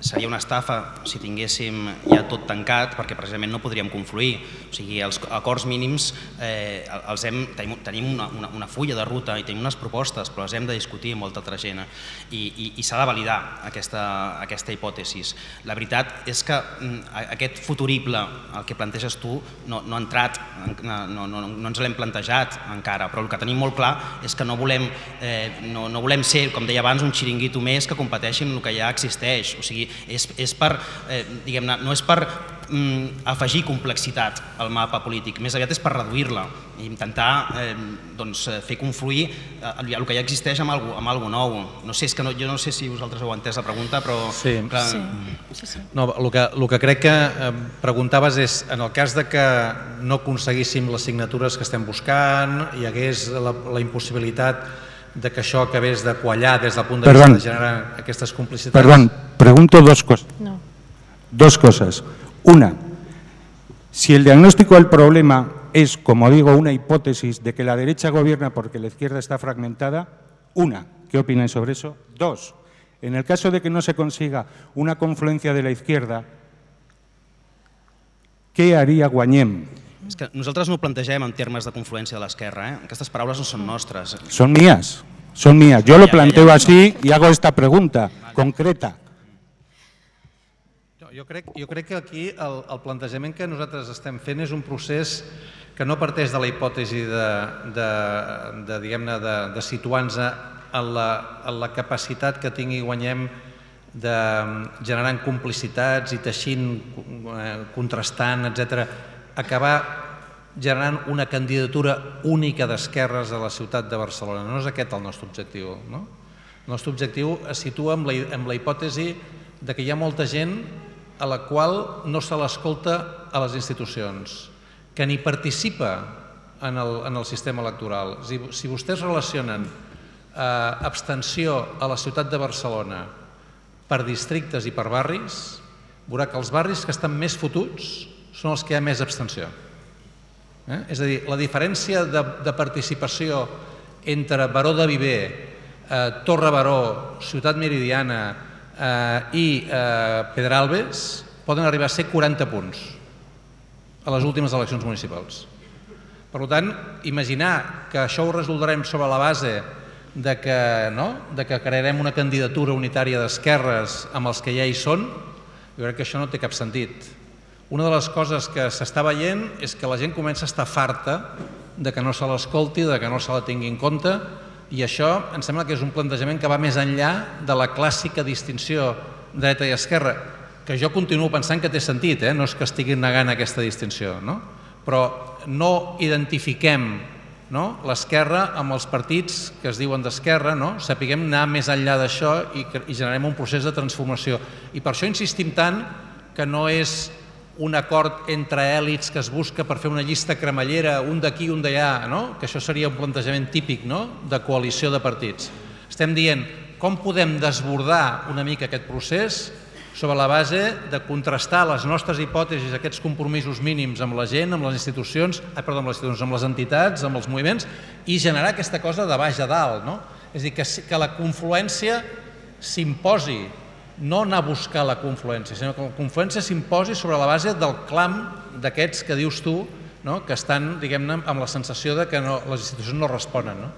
S3: seria una estafa si tinguéssim ja tot tancat perquè precisament no podríem confluir. O sigui, els acords mínims eh, els hem, tenim una, una, una fulla de ruta i tenim unes propostes, però les hem de discutir amb molta altra gent i, i, i s'ha de validar aquesta, aquesta hipòtesi. La veritat és que aquest futurible, el que planteges tu, no, no ha entrat, no, no, no, no ens l'hem plantejat encara, però el que tenim molt clar és que no volem, eh, no, no volem ser, com deia abans, un xiringuito més que competeixi amb el que ja existeix. O sigui, és, és per, eh, diguem-ne, no és per mm, afegir complexitat al mapa polític, més aviat és per reduir-la i intentar eh, doncs, fer confluir eh, el que ja existeix amb alguna amb algo nou. No sé, és que no, jo no sé si vosaltres heu entès la pregunta, però...
S1: Sí,
S3: clar,
S1: sí. sí, sí. No, el, que, el que crec que eh, preguntaves és, en el cas de que no aconseguíssim les signatures que estem buscant, hi hagués la, la impossibilitat de que això acabés de quallar des del punt de
S10: Perdón.
S1: vista de generar aquestes complicitats.
S10: Perdón, pregunto dos cosas.
S2: No.
S10: Dos cosas. Una, si el diagnóstico del problema es, como digo, una hipótesis de que la derecha gobierna porque la izquierda está fragmentada, una, ¿qué opinan sobre eso? Dos, en el caso de que no se consiga una confluencia de la izquierda, ¿qué haría Guanyem?
S3: És que nosaltres no ho plantegem en termes de confluència de l'esquerra. Eh? Aquestes paraules no són nostres.
S10: Són mías. Son mías. Yo lo planteo así y hago esta pregunta concreta.
S1: Jo crec, jo crec que aquí el, el plantejament que nosaltres estem fent és un procés que no parteix de la hipòtesi de, de, de, diguem-ne, de, de situar-nos en la, en la capacitat que tingui i guanyem de generar complicitats i teixint, contrastant, etcètera, acabar generant una candidatura única d'esquerres a la ciutat de Barcelona. No és aquest el nostre objectiu. No? El nostre objectiu es situa en la, en la hipòtesi de que hi ha molta gent a la qual no se l'escolta a les institucions, que ni participa en el, en el sistema electoral. Si, si vostès relacionen eh, abstenció a la ciutat de Barcelona per districtes i per barris, veurà que els barris que estan més fotuts són els que hi ha més abstenció. Eh? És a dir, la diferència de, de participació entre Baró de Viver, eh, Torre Baró, Ciutat Meridiana eh, i eh, Pedralbes poden arribar a ser quaranta punts a les últimes eleccions municipals. Per tant, imaginar que això ho resoldrem sobre la base de que, no? de que crearem una candidatura unitària d'esquerres amb els que ja hi són, jo crec que això no té cap sentit. Una de les coses que s'està veient és que la gent comença a estar farta de que no se l'escolti, de que no se la tingui en compte, i això em sembla que és un plantejament que va més enllà de la clàssica distinció dreta i esquerra, que jo continuo pensant que té sentit, eh? No és que estiguin negant aquesta distinció, no? Però no identifiquem, no? l'esquerra amb els partits que es diuen d'esquerra, no? Sapiguem anar més enllà d'això i, i generem un procés de transformació. I per això insistim tant que no és un acord entre èlits que es busca per fer una llista cremallera, un d'aquí i un d'allà, no? Que això seria un plantejament típic, no? De coalició de partits. Estem dient com podem desbordar una mica aquest procés sobre la base de contrastar les nostres hipòtesis, aquests compromisos mínims amb la gent, amb les institucions, ah, perdó, amb les institucions, amb les entitats, amb els moviments, i generar aquesta cosa de baix a dalt, no? És a dir, que, que la confluència s'imposi, no anar a buscar la confluència, sinó que la confluència s'imposi sobre la base del clam d'aquests que dius tu, no? Que estan, diguem-ne, amb la sensació de que no, les institucions no responen. No?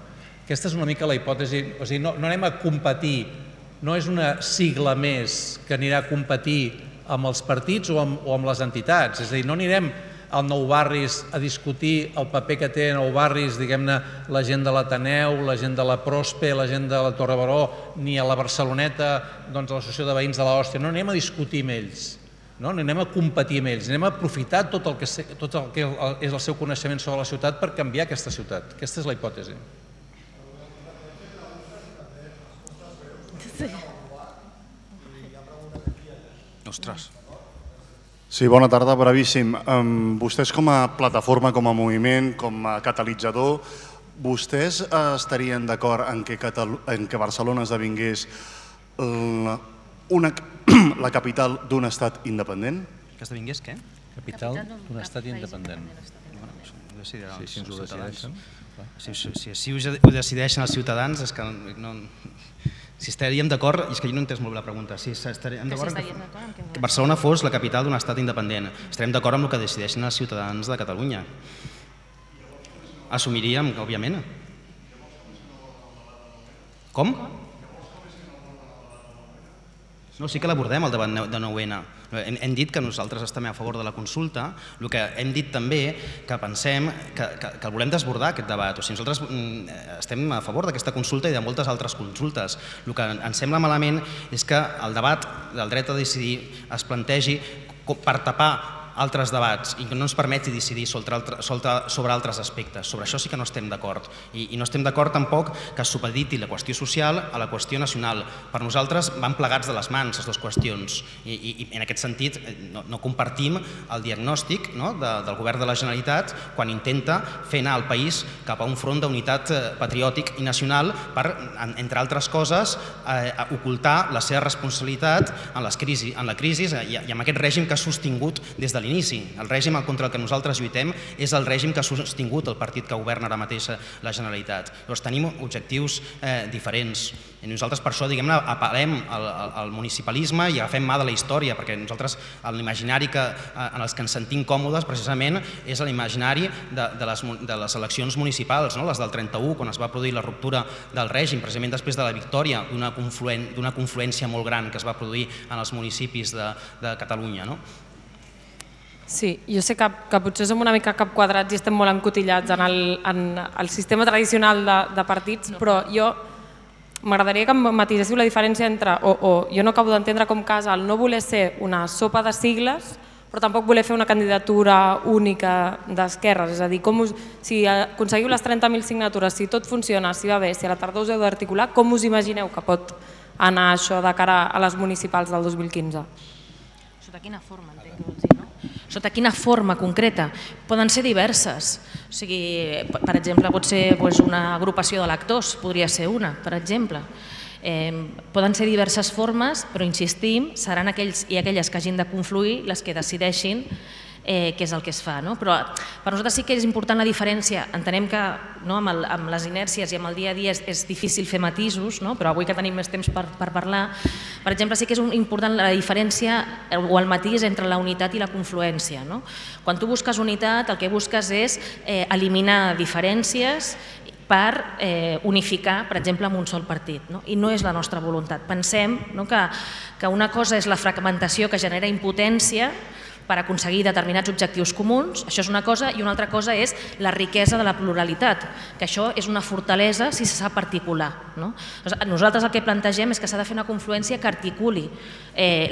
S1: Aquesta és una mica la hipòtesi, o sigui, no, no anem a competir, no és una sigla més que anirà a competir amb els partits o amb, o amb les entitats, és a dir, no anirem al Nou Barris a discutir el paper que té Nou Barris, diguem-ne, la gent de l'Ateneu, la gent de la Prospe, la gent de la Torre Baró, ni a la Barceloneta, doncs a l'Associació de Veïns de l'Hòstia, no anem a discutir amb ells, no anem a competir amb ells, anem a aprofitar tot el que, tot el que és el seu coneixement sobre la ciutat per canviar aquesta ciutat. Aquesta és la hipòtesi.
S3: Ostres.
S11: Sí, bona tarda, brevíssim. Vostès com a plataforma, com a moviment, com a catalitzador, vostès estarien d'acord en que Barcelona esdevingués la capital d'un estat independent?
S3: Que esdevingués què?
S1: Capital d'un estat independent.
S3: Si ens ho decideixen. Si així ho decideixen els ciutadans, és que no... Si estaríem d'acord, i és que jo no he entès molt bé la pregunta, si estaríem d'acord que Barcelona fos la capital d'un estat independent, estarem d'acord amb el que decideixen els ciutadans de Catalunya. Assumiríem, òbviament. Com? No, sí que l'abordem, el debat de nou ena. Hem dit que nosaltres estem a favor de la consulta, el que hem dit també que pensem que el volem desbordar, aquest debat. O sigui, nosaltres estem a favor d'aquesta consulta i de moltes altres consultes. El que ens sembla malament és que el debat del dret a decidir es plantegi per tapar altres debats i que no ens permeti decidir sobre altres aspectes. Sobre això sí que no estem d'acord. I no estem d'acord tampoc que es supediti la qüestió social a la qüestió nacional. Per nosaltres van plegats de les mans les dues qüestions i en aquest sentit no compartim el diagnòstic del govern de la Generalitat quan intenta fer anar el país cap a un front d'unitat patriòtic i nacional per, entre altres coses, ocultar la seva responsabilitat en la crisi i amb aquest règim que ha sostingut des de l'inici. El règim contra el que nosaltres lluitem és el règim que ha sostingut el partit que governa ara mateix la Generalitat. Llavors tenim objectius diferents. I nosaltres per això, diguem-ne, apel·lem al municipalisme i agafem mà de la història, perquè nosaltres l'imaginari en els que ens sentim còmodes precisament és l'imaginari de les eleccions municipals, les del trenta-u, quan es va produir la ruptura del règim, precisament després de la victòria d'una confluència molt gran que es va produir en els municipis de Catalunya.
S12: Sí, jo sé que potser som una mica cap quadrats i estem molt encotillats en el sistema tradicional de partits, però jo m'agradaria que em matiséssiu la diferència entre, o jo no acabo d'entendre com casa el no voler ser una sopa de sigles, però tampoc voler fer una candidatura única d'esquerres. És a dir, si aconseguiu les trenta mil signatures, si tot funciona, si va bé, si a la tardor us heu d'articular, com us imagineu que pot anar això de cara a les municipals del dos mil quinze?
S2: Sota quina forma, entenc que vols dir, no? Sota quina forma concreta? Poden ser diverses. O sigui, per exemple, pot ser una agrupació d'electors, podria ser una, per exemple. Poden ser diverses formes, però insistim, seran aquells i aquelles que hagin de confluir les que decideixin què és el que es fa. Però per nosaltres sí que és important la diferència. Entenem que amb les inèrcies i amb el dia a dia és difícil fer matisos, però avui que tenim més temps per parlar, per exemple, sí que és important la diferència o el matís entre la unitat i la confluència. Quan tu busques unitat, el que busques és eliminar diferències per unificar, per exemple, amb un sol partit. I no és la nostra voluntat. Pensem que una cosa és la fragmentació que genera impotència per aconseguir determinats objectius comuns, això és una cosa, i una altra cosa és la riquesa de la pluralitat, que això és una fortalesa si se sap articular. Nosaltres el que plantegem és que s'ha de fer una confluència que articuli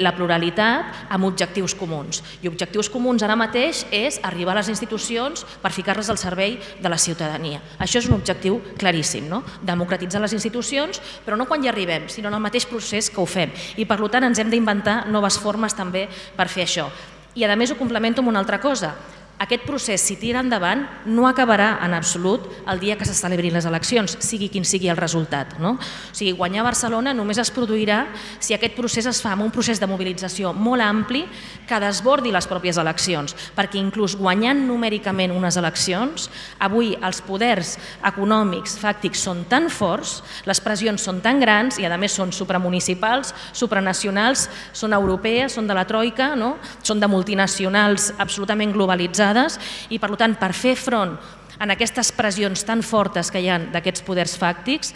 S2: la pluralitat amb objectius comuns. I objectius comuns ara mateix és arribar a les institucions per ficar-les al servei de la ciutadania. Això és un objectiu claríssim, democratitzar les institucions, però no quan hi arribem, sinó en el mateix procés que ho fem. I per tant ens hem d'inventar noves formes també per fer això. I a més ho complemento amb una altra cosa. Aquest procés, si tira endavant, no acabarà en absolut el dia que se celebrin les eleccions, sigui quin sigui el resultat. O sigui, guanyar a Barcelona només es produirà si aquest procés es fa amb un procés de mobilització molt ampli que desbordi les pròpies eleccions, perquè inclús guanyant numèricament unes eleccions, avui els poders econòmics, fàctics, són tan forts, les pressions són tan grans i a més són supramunicipals, supranacionals, són europees, són de la troika, són de multinacionals absolutament globalitzades, i per tant per fer front a aquestes pressions tan fortes que hi ha d'aquests poders fàctics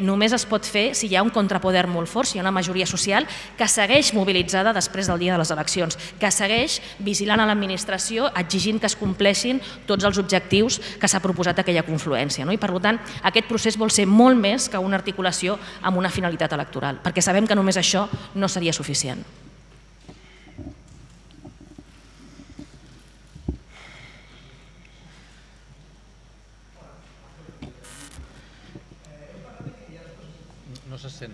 S2: només es pot fer si hi ha un contrapoder molt fort, si hi ha una majoria social que segueix mobilitzada després del dia de les eleccions, que segueix vigilant a l'administració, exigint que es compleixin tots els objectius que s'ha proposat aquella confluència. I per tant aquest procés vol ser molt més que una articulació amb una finalitat electoral, perquè sabem que només això no seria suficient.
S1: No se sent.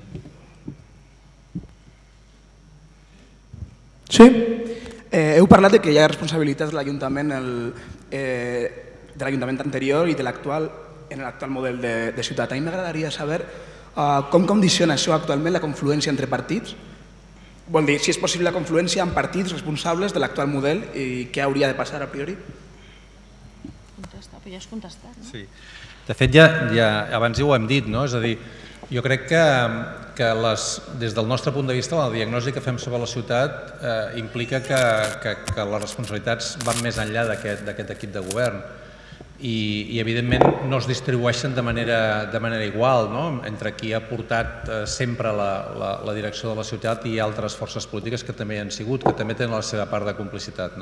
S13: Sí. Heu parlat de que hi ha responsabilitats de l'Ajuntament de l'Ajuntament anterior i de l'actual en l'actual model de ciutat. A mi m'agradaria saber com condiciona això actualment la confluència entre partits. Vol dir, si és possible la confluència amb partits responsables de l'actual model i què hauria de passar a priori?
S2: Contesta, però ja has contestat, no?
S1: Sí. De fet, ja abans ja ho hem dit, no? És a dir, jo crec que des del nostre punt de vista la diagnosi que fem sobre la ciutat implica que les responsabilitats van més enllà d'aquest equip de govern i evidentment no es distribueixen de manera igual entre qui ha portat sempre la direcció de la ciutat i altres forces polítiques que també hi han sigut, que també tenen la seva part de complicitat.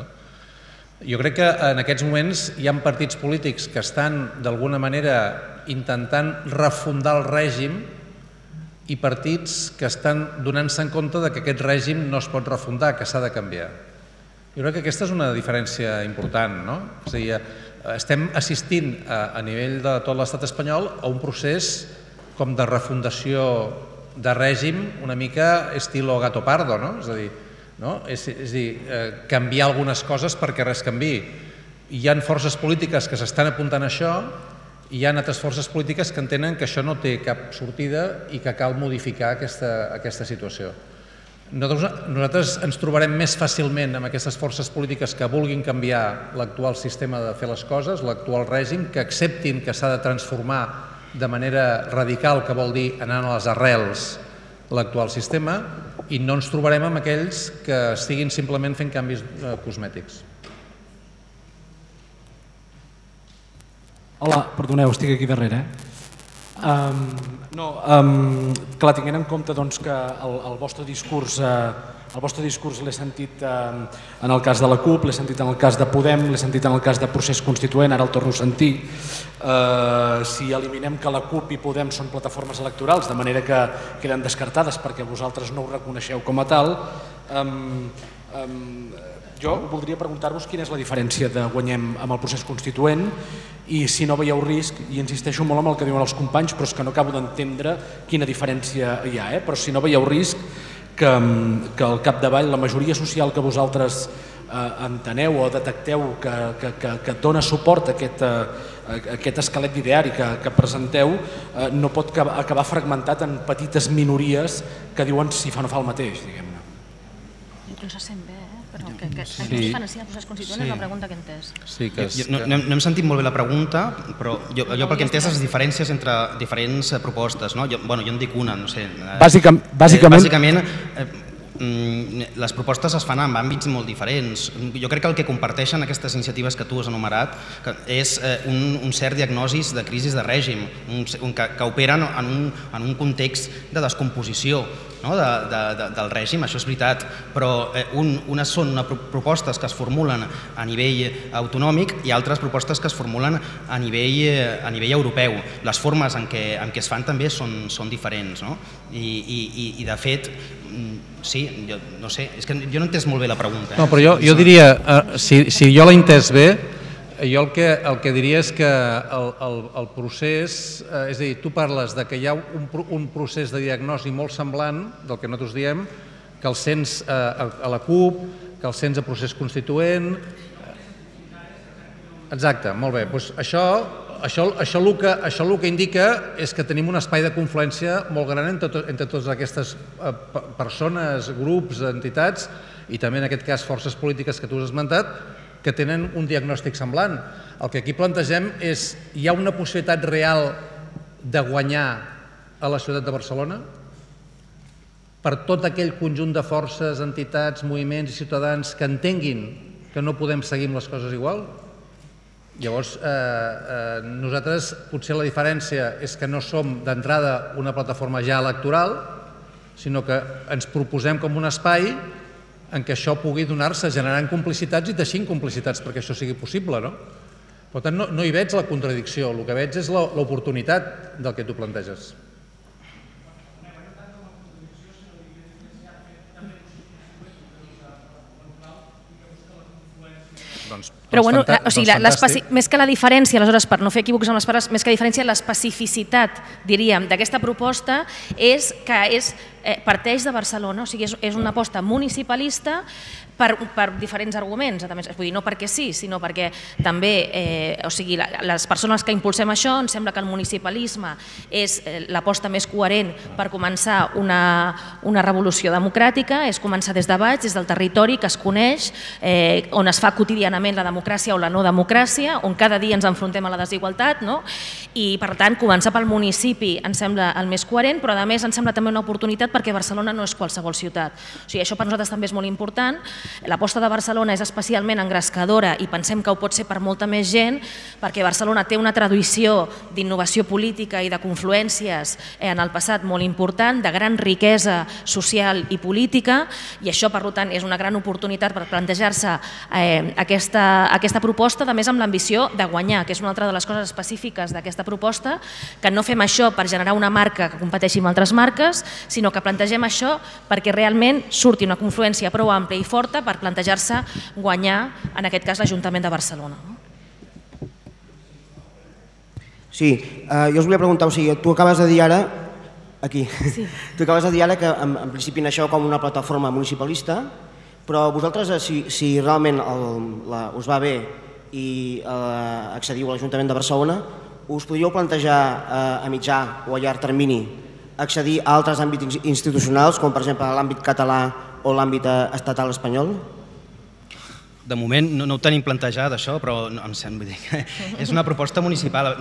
S1: Jo crec que en aquests moments hi ha partits polítics que estan d'alguna manera intentant refundar el règim i partits que estan donant-se en compte que aquest règim no es pot refundar, que s'ha de canviar. Jo crec que aquesta és una diferència important, no? És a dir, estem assistint a nivell de tot l'estat espanyol a un procés com de refundació de règim una mica estilo Gato Pardo, no? És a dir, és a dir, canviar algunes coses perquè res canviï. Hi ha forces polítiques que s'estan apuntant a això i hi ha altres forces polítiques que entenen que això no té cap sortida i que cal modificar aquesta situació. Nosaltres ens trobarem més fàcilment amb aquestes forces polítiques que vulguin canviar l'actual sistema de fer les coses, l'actual règim, que acceptin que s'ha de transformar de manera radical, que vol dir anant a les arrels, l'actual sistema, i no ens trobarem amb aquells que estiguin simplement fent canvis cosmètics.
S14: Hola, perdoneu, estic aquí darrere. No, clar, tinguent en compte que el vostre discurs el vostre discurs l'he sentit en el cas de la CUP, l'he sentit en el cas de Podem, l'he sentit en el cas de Procés Constituent, ara el torno a sentir. Si eliminem que la CUP i Podem són plataformes electorals, de manera que queden descartades perquè vosaltres no ho reconeixeu com a tal, jo voldria preguntar-vos quina és la diferència de Guanyem amb el procés constituent i si no veieu risc, i insisteixo molt en el que diuen els companys, però és que no acabo d'entendre quina diferència hi ha, però si no veieu risc que al capdavall la majoria social que vosaltres enteneu o detecteu que dona suport a aquest esquelet d'ideari que presenteu no pot acabar fragmentat en petites minories que diuen si fa o no fa el mateix, diguem-ne.
S2: No se sent bé, però que ens diferencia el procés constituent és la pregunta que he entès.
S3: No hem sentit molt bé la pregunta, però jo pel que he entès les diferències entre diferents propostes, no? Jo en dic una, no sé. Bàsicament, les propostes es fan en àmbits molt diferents. Jo crec que el que comparteixen aquestes iniciatives que tu has enumerat és un cert diagnosi de crisi de règim, que operen en un context de descomposició del règim, això és veritat, però unes són propostes que es formulen a nivell autonòmic i altres propostes que es formulen a nivell europeu. Les formes en què es fan també són diferents i de fet sí, no sé, és que jo no he entès molt bé la pregunta.
S1: No, però jo diria, si jo l'he entès bé, jo el que diria és que el procés, és a dir, tu parles que hi ha un procés de diagnosi molt semblant del que nosaltres diem, que el sents a la CUP, que el sents a procés constituent. Exacte, molt bé. Això el que indica és que tenim un espai de confluència molt gran entre totes aquestes persones, grups, entitats i també en aquest cas forces polítiques que tu has esmentat que tenen un diagnòstic semblant. El que aquí plantegem és, hi ha una possibilitat real de guanyar a la ciutat de Barcelona per tot aquell conjunt de forces, entitats, moviments i ciutadans que entenguin que no podem seguir amb les coses igual? Llavors, nosaltres potser la diferència és que no som d'entrada una plataforma ja electoral, sinó que ens proposem com un espai en què això pugui donar-se generant complicitats i teixint complicitats perquè això sigui possible. Per tant, no hi veig la contradicció, el que veig és l'oportunitat del que tu planteges.
S2: Però bueno, més que la diferència, aleshores, per no fer equívocs amb les paraules, més que la diferència, l'especificitat, diríem, d'aquesta proposta és que parteix de Barcelona, o sigui, és una aposta municipalista per diferents arguments, vull dir, no perquè sí, sinó perquè també, o sigui, les persones que impulsem això, ens sembla que el municipalisme és l'aposta més coherent per començar una revolució democràtica, és començar des de baix, des del territori que es coneix, on es fa quotidianament la democràcia o la no democràcia, on cada dia ens enfrontem a la desigualtat, i per tant, començar pel municipi ens sembla el més coherent, però a més ens sembla també una oportunitat perquè Barcelona no és qualsevol ciutat. O sigui, això per nosaltres també és molt important. L'aposta de Barcelona és especialment engrescadora i pensem que ho pot ser per molta més gent perquè Barcelona té una tradició d'innovació política i de confluències en el passat molt important, de gran riquesa social i política, i això, per tant, és una gran oportunitat per plantejar-se aquesta proposta, a més amb l'ambició de guanyar, que és una altra de les coses específiques d'aquesta proposta, que no fem això per generar una marca que competeixi amb altres marques, sinó que plantegem això perquè realment surti una confluència prou àmplia i forta per plantejar-se guanyar, en aquest cas, l'Ajuntament de Barcelona.
S15: Sí, jo us volia preguntar, o sigui, tu acabes de dir ara, aquí, tu acabes de dir ara que en principi naixeu com una plataforma municipalista, però vosaltres, si realment us va bé i accediu a l'Ajuntament de Barcelona, us podríeu plantejar a mitjà o a llarg termini accedir a altres àmbits institucionals, com per exemple l'àmbit català o l'àmbit estatal espanyol?
S3: De moment no, no ho tenim plantejat, això, però no, em sembla dir que és una proposta municipal.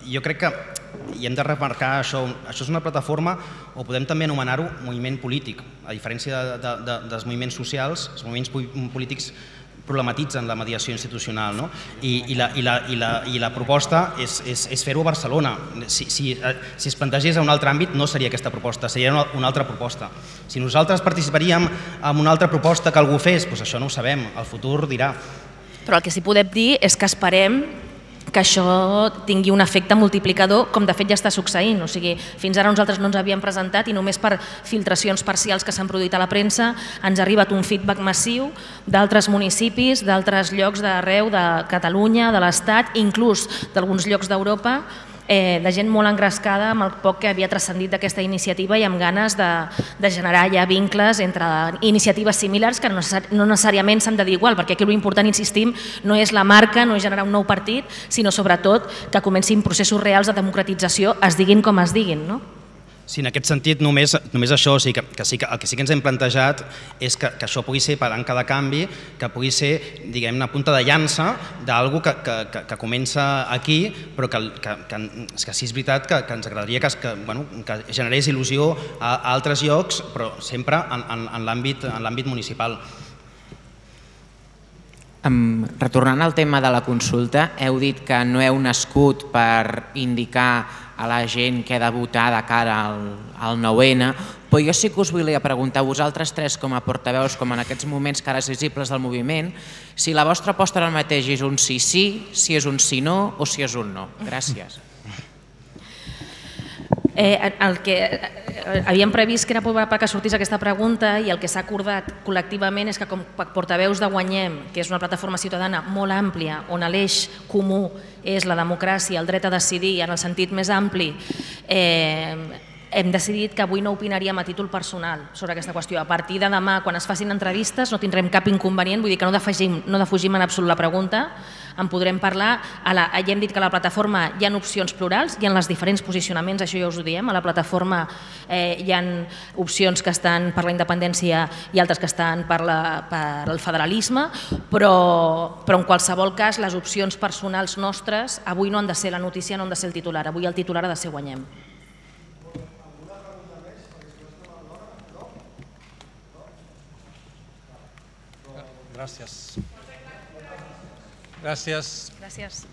S3: Jo crec que i hem de remarcar això, això és una plataforma, o podem també anomenar-ho moviment polític, a diferència de, de, de, dels moviments socials, els moviments polítics problematitzen la mediació institucional, no? I, i, la, i, la, i, la, i la proposta és, és, és fer-ho a Barcelona. Si, si, si es plantegés a un altre àmbit no seria aquesta proposta, seria una, una altra proposta. Si nosaltres participaríem en una altra proposta que algú fes, doncs això no ho sabem, el futur dirà.
S2: Però el que sí podem dir és que esperem que això tingui un efecte multiplicador, com de fet ja està succeint. O sigui, fins ara nosaltres no ens havíem presentat i només per filtracions parcials que s'han produït a la premsa ens ha arribat un feedback massiu d'altres municipis, d'altres llocs d'arreu de Catalunya, de l'Estat, inclús d'alguns llocs d'Europa, de gent molt engrescada amb el poc que havia transcendit d'aquesta iniciativa i amb ganes de, de generar ja vincles entre iniciatives similars que no necessàriament s'han de dir igual, perquè aquí l'important, insistim, no és la marca, no és generar un nou partit, sinó sobretot que comencin processos reals de democratització, es diguin com es diguin, no?
S3: Sí, en aquest sentit, només, només això, o sigui, que, que sí que, el que sí que ens hem plantejat és que, que això pugui ser palanca de canvi, que pugui ser, diguem-ne, punta de llança d'algú que, que, que, que comença aquí, però que, que, que, que sí és veritat que, que ens agradaria que, que, bueno, que generés il·lusió a, a altres llocs, però sempre en, en, en l'àmbit municipal.
S16: Um, retornant al tema de la consulta, heu dit que no heu nascut per indicar a la gent que ha de votar de cara al, al nou ene, però jo sí que us volia preguntar a vosaltres tres com a portaveus, com en aquests moments cares visibles del moviment, si la vostra aposta ara mateix és un sí-sí, si és un sí-no o si és un no. Gràcies.
S2: Eh, el que eh, havíem previst que era perquè sortís aquesta pregunta i el que s'ha acordat col·lectivament és que com a portaveus de Guanyem, que és una plataforma ciutadana molt àmplia on l'eix comú és la democràcia, el dret a decidir en el sentit més ampli, eh, hem decidit que avui no opinaríem a títol personal sobre aquesta qüestió. A partir de demà, quan es facin entrevistes, no tindrem cap inconvenient, vull dir que no defugim, no defugim en absolut la pregunta, en podrem parlar. A la, ja hem dit que a la plataforma hi ha opcions plurals, hi ha els diferents posicionaments, això ja us ho diem, a la plataforma eh, hi ha opcions que estan per la independència i altres que estan per, la, per el federalisme, però, però en qualsevol cas les opcions personals nostres avui no han de ser la notícia, no han de ser el titular, avui el titular ha de ser Guanyem.
S1: Gràcies. Gràcies.
S2: Gràcies.